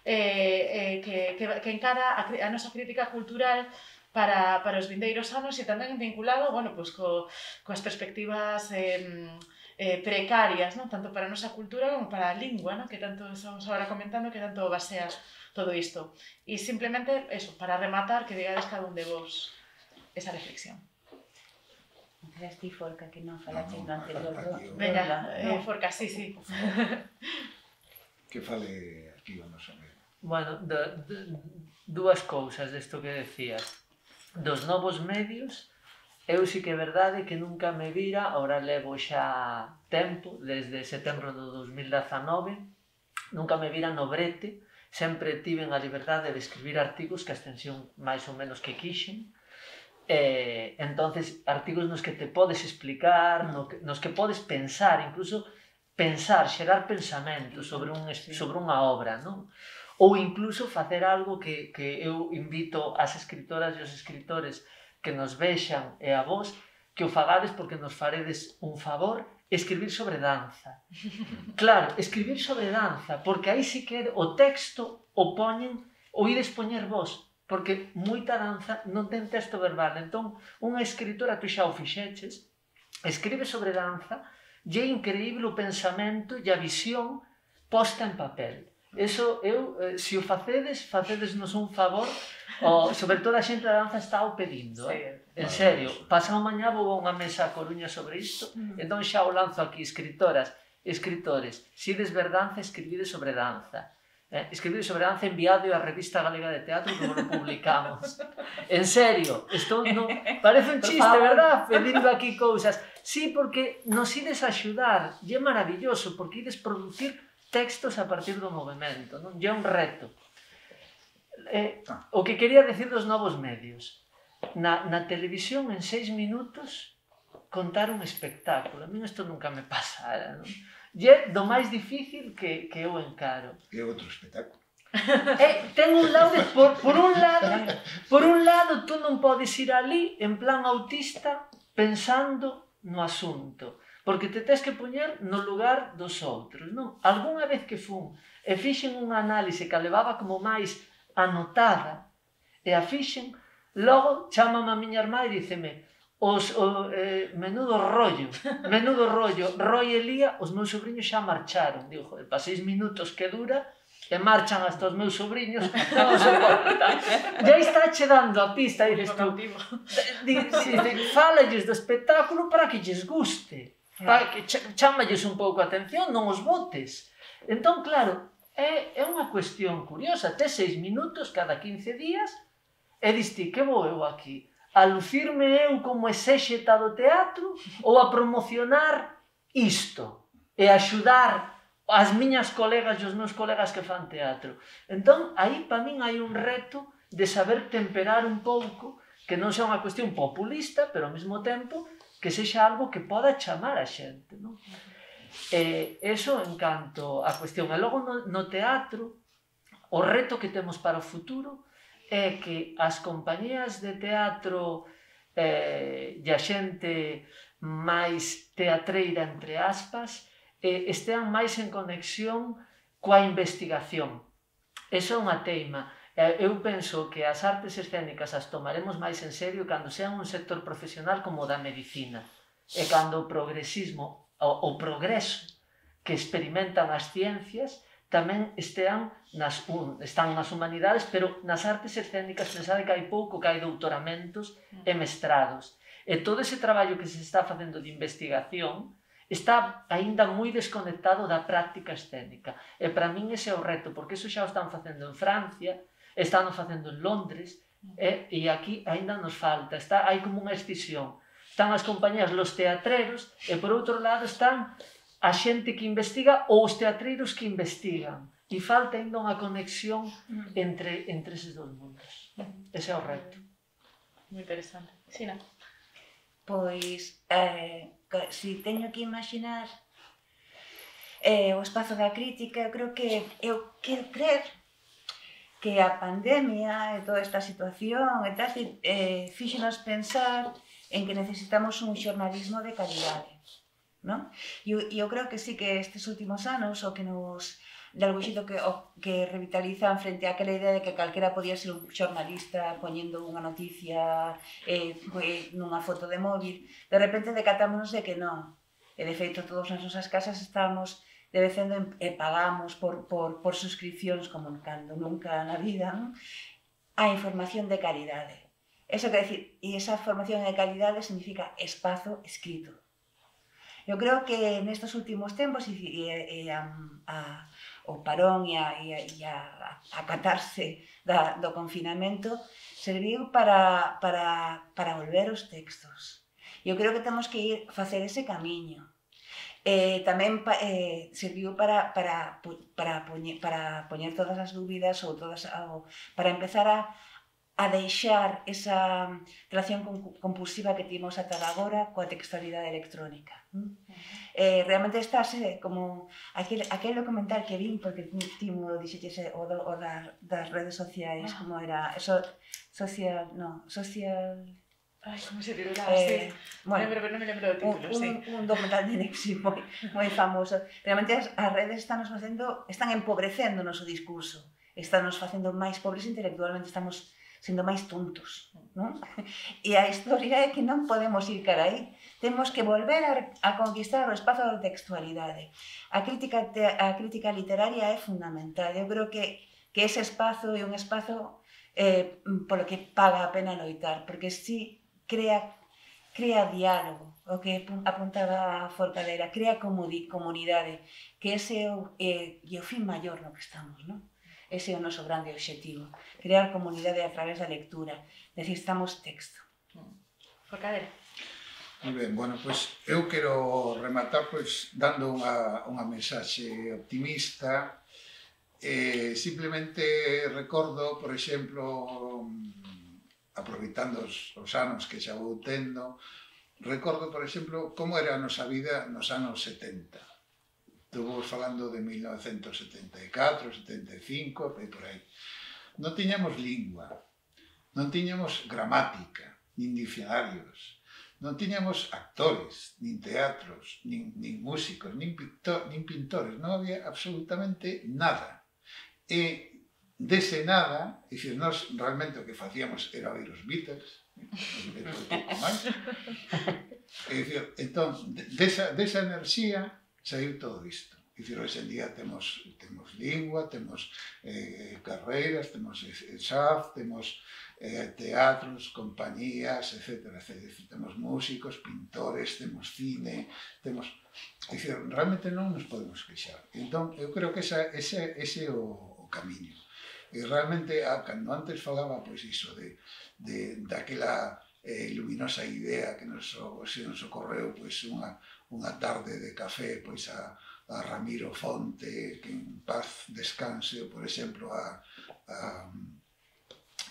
Eh, eh, que, que, que encara a, a nosa crítica cultural para, para os vindeiros anos e tamén vinculado, bueno, pues, co, coas perspectivas eh, eh, precarias, non? Tanto para a nosa cultura como para a lingua, non? Que tanto estamos agora comentando, que tanto basea todo isto. E simplemente, eso, para rematar, que digades cada un de vos esa reflexión. Eras ti, Forca, que non falaste no, no, anterior. Venga, eh, Forca, sí, sí. Que fale aquí o noso amigo. Bueno, de, de, dúas cousas desto que decías. Dos novos medios, eu sí que é verdade que nunca me vira, ahora levo xa tempo, desde setembro do dos mil dezanove, nunca me vira no brete, sempre tiven a liberdade de escribir artigos que a extensión máis ou menos que quixen, eh, entonces artigos nos que te podes explicar, no que, nos que podes pensar, incluso pensar, xerar pensamentos sobre, un, sobre unha obra, non? Ou incluso facer algo que, que eu invito ás escritoras e aos escritores que nos vexan e a vos, que o fagades porque nos faredes un favor, escribir sobre danza. Claro, escribir sobre danza, porque aí sí que o texto o poñen, o ides poñer vos, porque moita danza non ten texto verbal. Entón, unha escritora, tu xa o fixeches, escribe sobre danza, e é increíble o pensamento e a visión posta en papel. Eso, eu, se o facedes, facedesnos un favor, o, sobre todo a xente da danza está o pedindo, eh? En serio, pasado mañá vou a unha mesa a Coruña sobre isto, entón xa o lanzo aquí, escritoras, escritores, se ides ver danza, escribides sobre danza. Eh, escribides sobre danza, enviado á Revista Galega de Teatro que lo publicamos. En serio, isto non parece un chiste, verdad? Pedindo aquí cousas. Sí, porque nos ides a axudar, e é maravilloso, porque ides producir textos a partir do movimento, non? E é un reto. Eh, o que quería decir dos novos medios. Na, na televisión, en seis minutos, contar un espectáculo. A mí isto nunca me pasara, non? E é do máis difícil que, que eu encaro. E outro espectáculo. Eh, ten un lado, de, por, por un lado, por un lado, tú non podes ir ali en plan autista pensando no asunto. porque te tens que poñer no lugar dos outros, non? Algúnha vez que fun e fixen unha análise que a levaba como máis anotada, e a fixen, logo chamame a miña irmá e díceme os, o, eh, menudo rollo, menudo rollo, Roy e Lía, os meus sobrinhos xa marcharon. Digo, joder, para seis minutos que dura, e marchan hasta os meus sobrinhos, non soporta. Ya está che dando a pista, dices tú, fállalles do espectáculo para que lles guste, para que chámalles un pouco a atención, non os botes. Entón, claro, é, é unha cuestión curiosa, tes seis minutos cada quince días, e diste, que vou eu aquí? A lucirme eu como exéxeta do teatro ou a promocionar isto e axudar as miñas colegas e os meus colegas que fan teatro? Entón, aí para min hai un reto de saber temperar un pouco, que non sea unha cuestión populista, pero ao mesmo tempo que sexa algo que poda chamar a xente, non? E eso en canto a cuestión. E logo no, no teatro, o reto que temos para o futuro é que as compañías de teatro eh, e a xente máis teatreira, entre aspas, eh, estean máis en conexión coa investigación. Eso é unha teima. Eh, eu penso que as artes escénicas as tomaremos máis en serio cando sean un sector profesional como o da medicina, e cando o progresismo, o, o progreso que experimentan as ciencias tamén estean nas, un, están nas humanidades, pero nas artes escénicas pensade que hai pouco que hai doutoramentos e mestrados. E todo ese traballo que se está facendo de investigación está aínda moi desconectado da práctica escénica. E para min ese é o reto, porque eso xa o están facendo en Francia, están facendo en Londres, e, e aquí aínda nos falta. Está, hai como unha escisión. Están as compañías, los teatreros, e por outro lado están a xente que investiga ou os teatreiros que investigan. E falta ainda unha conexión entre, entre eses dos mundos. Ese é o reto. Moi interesante. Sina? Pois, eh, si teño que imaginar eh, o espazo da crítica, eu creo que eu quero crer que a pandemia e toda esta situación e tal, eh, fíxenos pensar en que necesitamos un xornalismo de calidade. ¿No? E eu creo que sí que estes últimos anos o que nos de algún xito que, o, que revitalizan frente a aquela idea de que calquera podía ser un xornalista poñendo unha noticia eh, nunha foto de móvil, de repente decatámonos de que non, e de feito todas nas nosas casas estábamos debecendo e pagamos por, por, por suscripcións como cando nunca na vida, ¿no? A información de calidade. Eso quer decir, e esa formación de calidade significa espazo escrito. Eu creo que nestes últimos tempos e, e, e a, a, o parón e a, e a, e a acatarse da, do confinamento serviu para, para, para volver os textos. Eu creo que temos que ir facer ese camiño. Eh, tamén eh, serviu para, para, para, poñer, para poñer todas as dúbidas ou todas, ou, para empezar a a deixar esa relación compulsiva que timos ata agora coa textualidade electrónica. Uh-huh. eh, realmente estáse como aquel, aquel documental que vin, porque timo dixeches o, do, o da, das redes sociais, ah. como era, eso, social, no, social... Ai, como se titula, eh, sí. Bueno, lembro, pero non me lembro do título, un, sí. Un, un documental de Nexi moi, moi famoso. Realmente as, as redes están nos facendo, están empobrecendo o noso discurso, están nos facendo máis pobres intelectualmente, estamos sendo máis tontos, non? E a historia é que non podemos ir cara aí. Temos que volver a, a conquistar o espazo da textualidade. A crítica, te, a crítica literaria é fundamental. Eu creo que, que ese espazo é un espazo eh, polo que paga a pena loitar, porque si crea, crea diálogo, o que apuntaba a Forcadera, crea comunidade, que ese é o, eh, e o fin maior no que estamos, non? Ese é o noso grande obxectivo, crear comunidade a través da lectura. Necesitamos texto. Forcadera. Moi ben, bueno, pois eu quero rematar pois dando unha, unha mensaxe optimista. Eh, simplemente recordo, por exemplo, aproveitando os, os anos que xa vou tendo, recordo, por exemplo, como era a nosa vida nos anos setenta. Estuvimos falando de mil novecentos setenta e catro, setenta e cinco, e por aí. Non tiñamos lingua, non tiñamos gramática, nin diccionarios, non tiñamos actores, nin teatros, nin, nin músicos, nin, pintor, nin pintores, non había absolutamente nada. E dese nada, é dicir, nós realmente o que facíamos era oír os Beatles, é dicir, entón, desa, desa enerxía saiu todo isto. É dicir, hoxe en día temos, temos lingua, temos eh, carreiras, temos S A F, temos eh, teatros, compañías, etcétera, etcétera. Temos músicos, pintores, temos cine, temos... É dicir, realmente non nos podemos queixar. Entón, eu creo que esa, ese, ese é o, o camiño. E realmente, ah, cando antes falaba, pois iso, de, de, daquela eh, luminosa idea que nos, se nos ocorreu, pois, unha, unha tarde de café, pois, a, a Ramiro Fonte, que en paz descanse, ou, por exemplo, a, a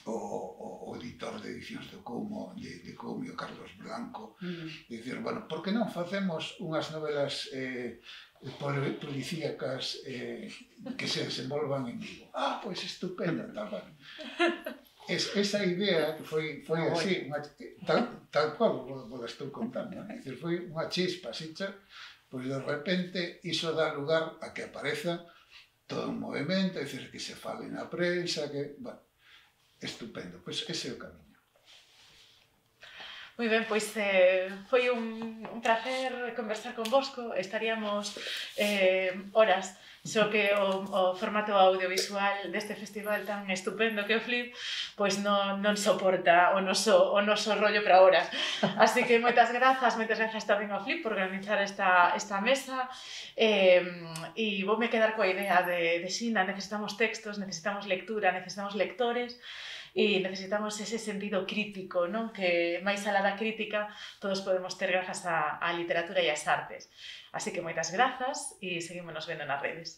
O, o, o editor de edicións do Coumo, de, de Coumio, Carlos Blanco, mm. dicir, bueno, por que non facemos unhas novelas eh, policíacas eh, que se desenvolvan en Vigo? Ah, pois estupendo, tal, vale. Es, esa idea que foi, foi oh, así, unha, tal, tal cual vos estou contando, é dicir, foi unha chispa, así, pois de repente iso dá lugar a que apareza todo un movimento, é dicir, que se fale na prensa, que, bueno, estupendo, pois ese é o camiño. Moi ben, pois eh, foi un, un placer conversar con vosco, estaríamos eh, horas, só que o, o formato audiovisual deste festival tan estupendo que o Flip, pois non, non soporta o noso, o noso rollo para horas. Así que moitas grazas, moitas grazas tamén ao Flip por organizar esta, esta mesa, eh, e voume quedar coa idea de, de Xina, necesitamos textos, necesitamos lectura, necesitamos lectores, e necesitamos ese sentido crítico, non? Que máis alá da crítica todos podemos ter grazas á, á literatura e ás artes. Así que moitas grazas e seguímonos vendo nas redes.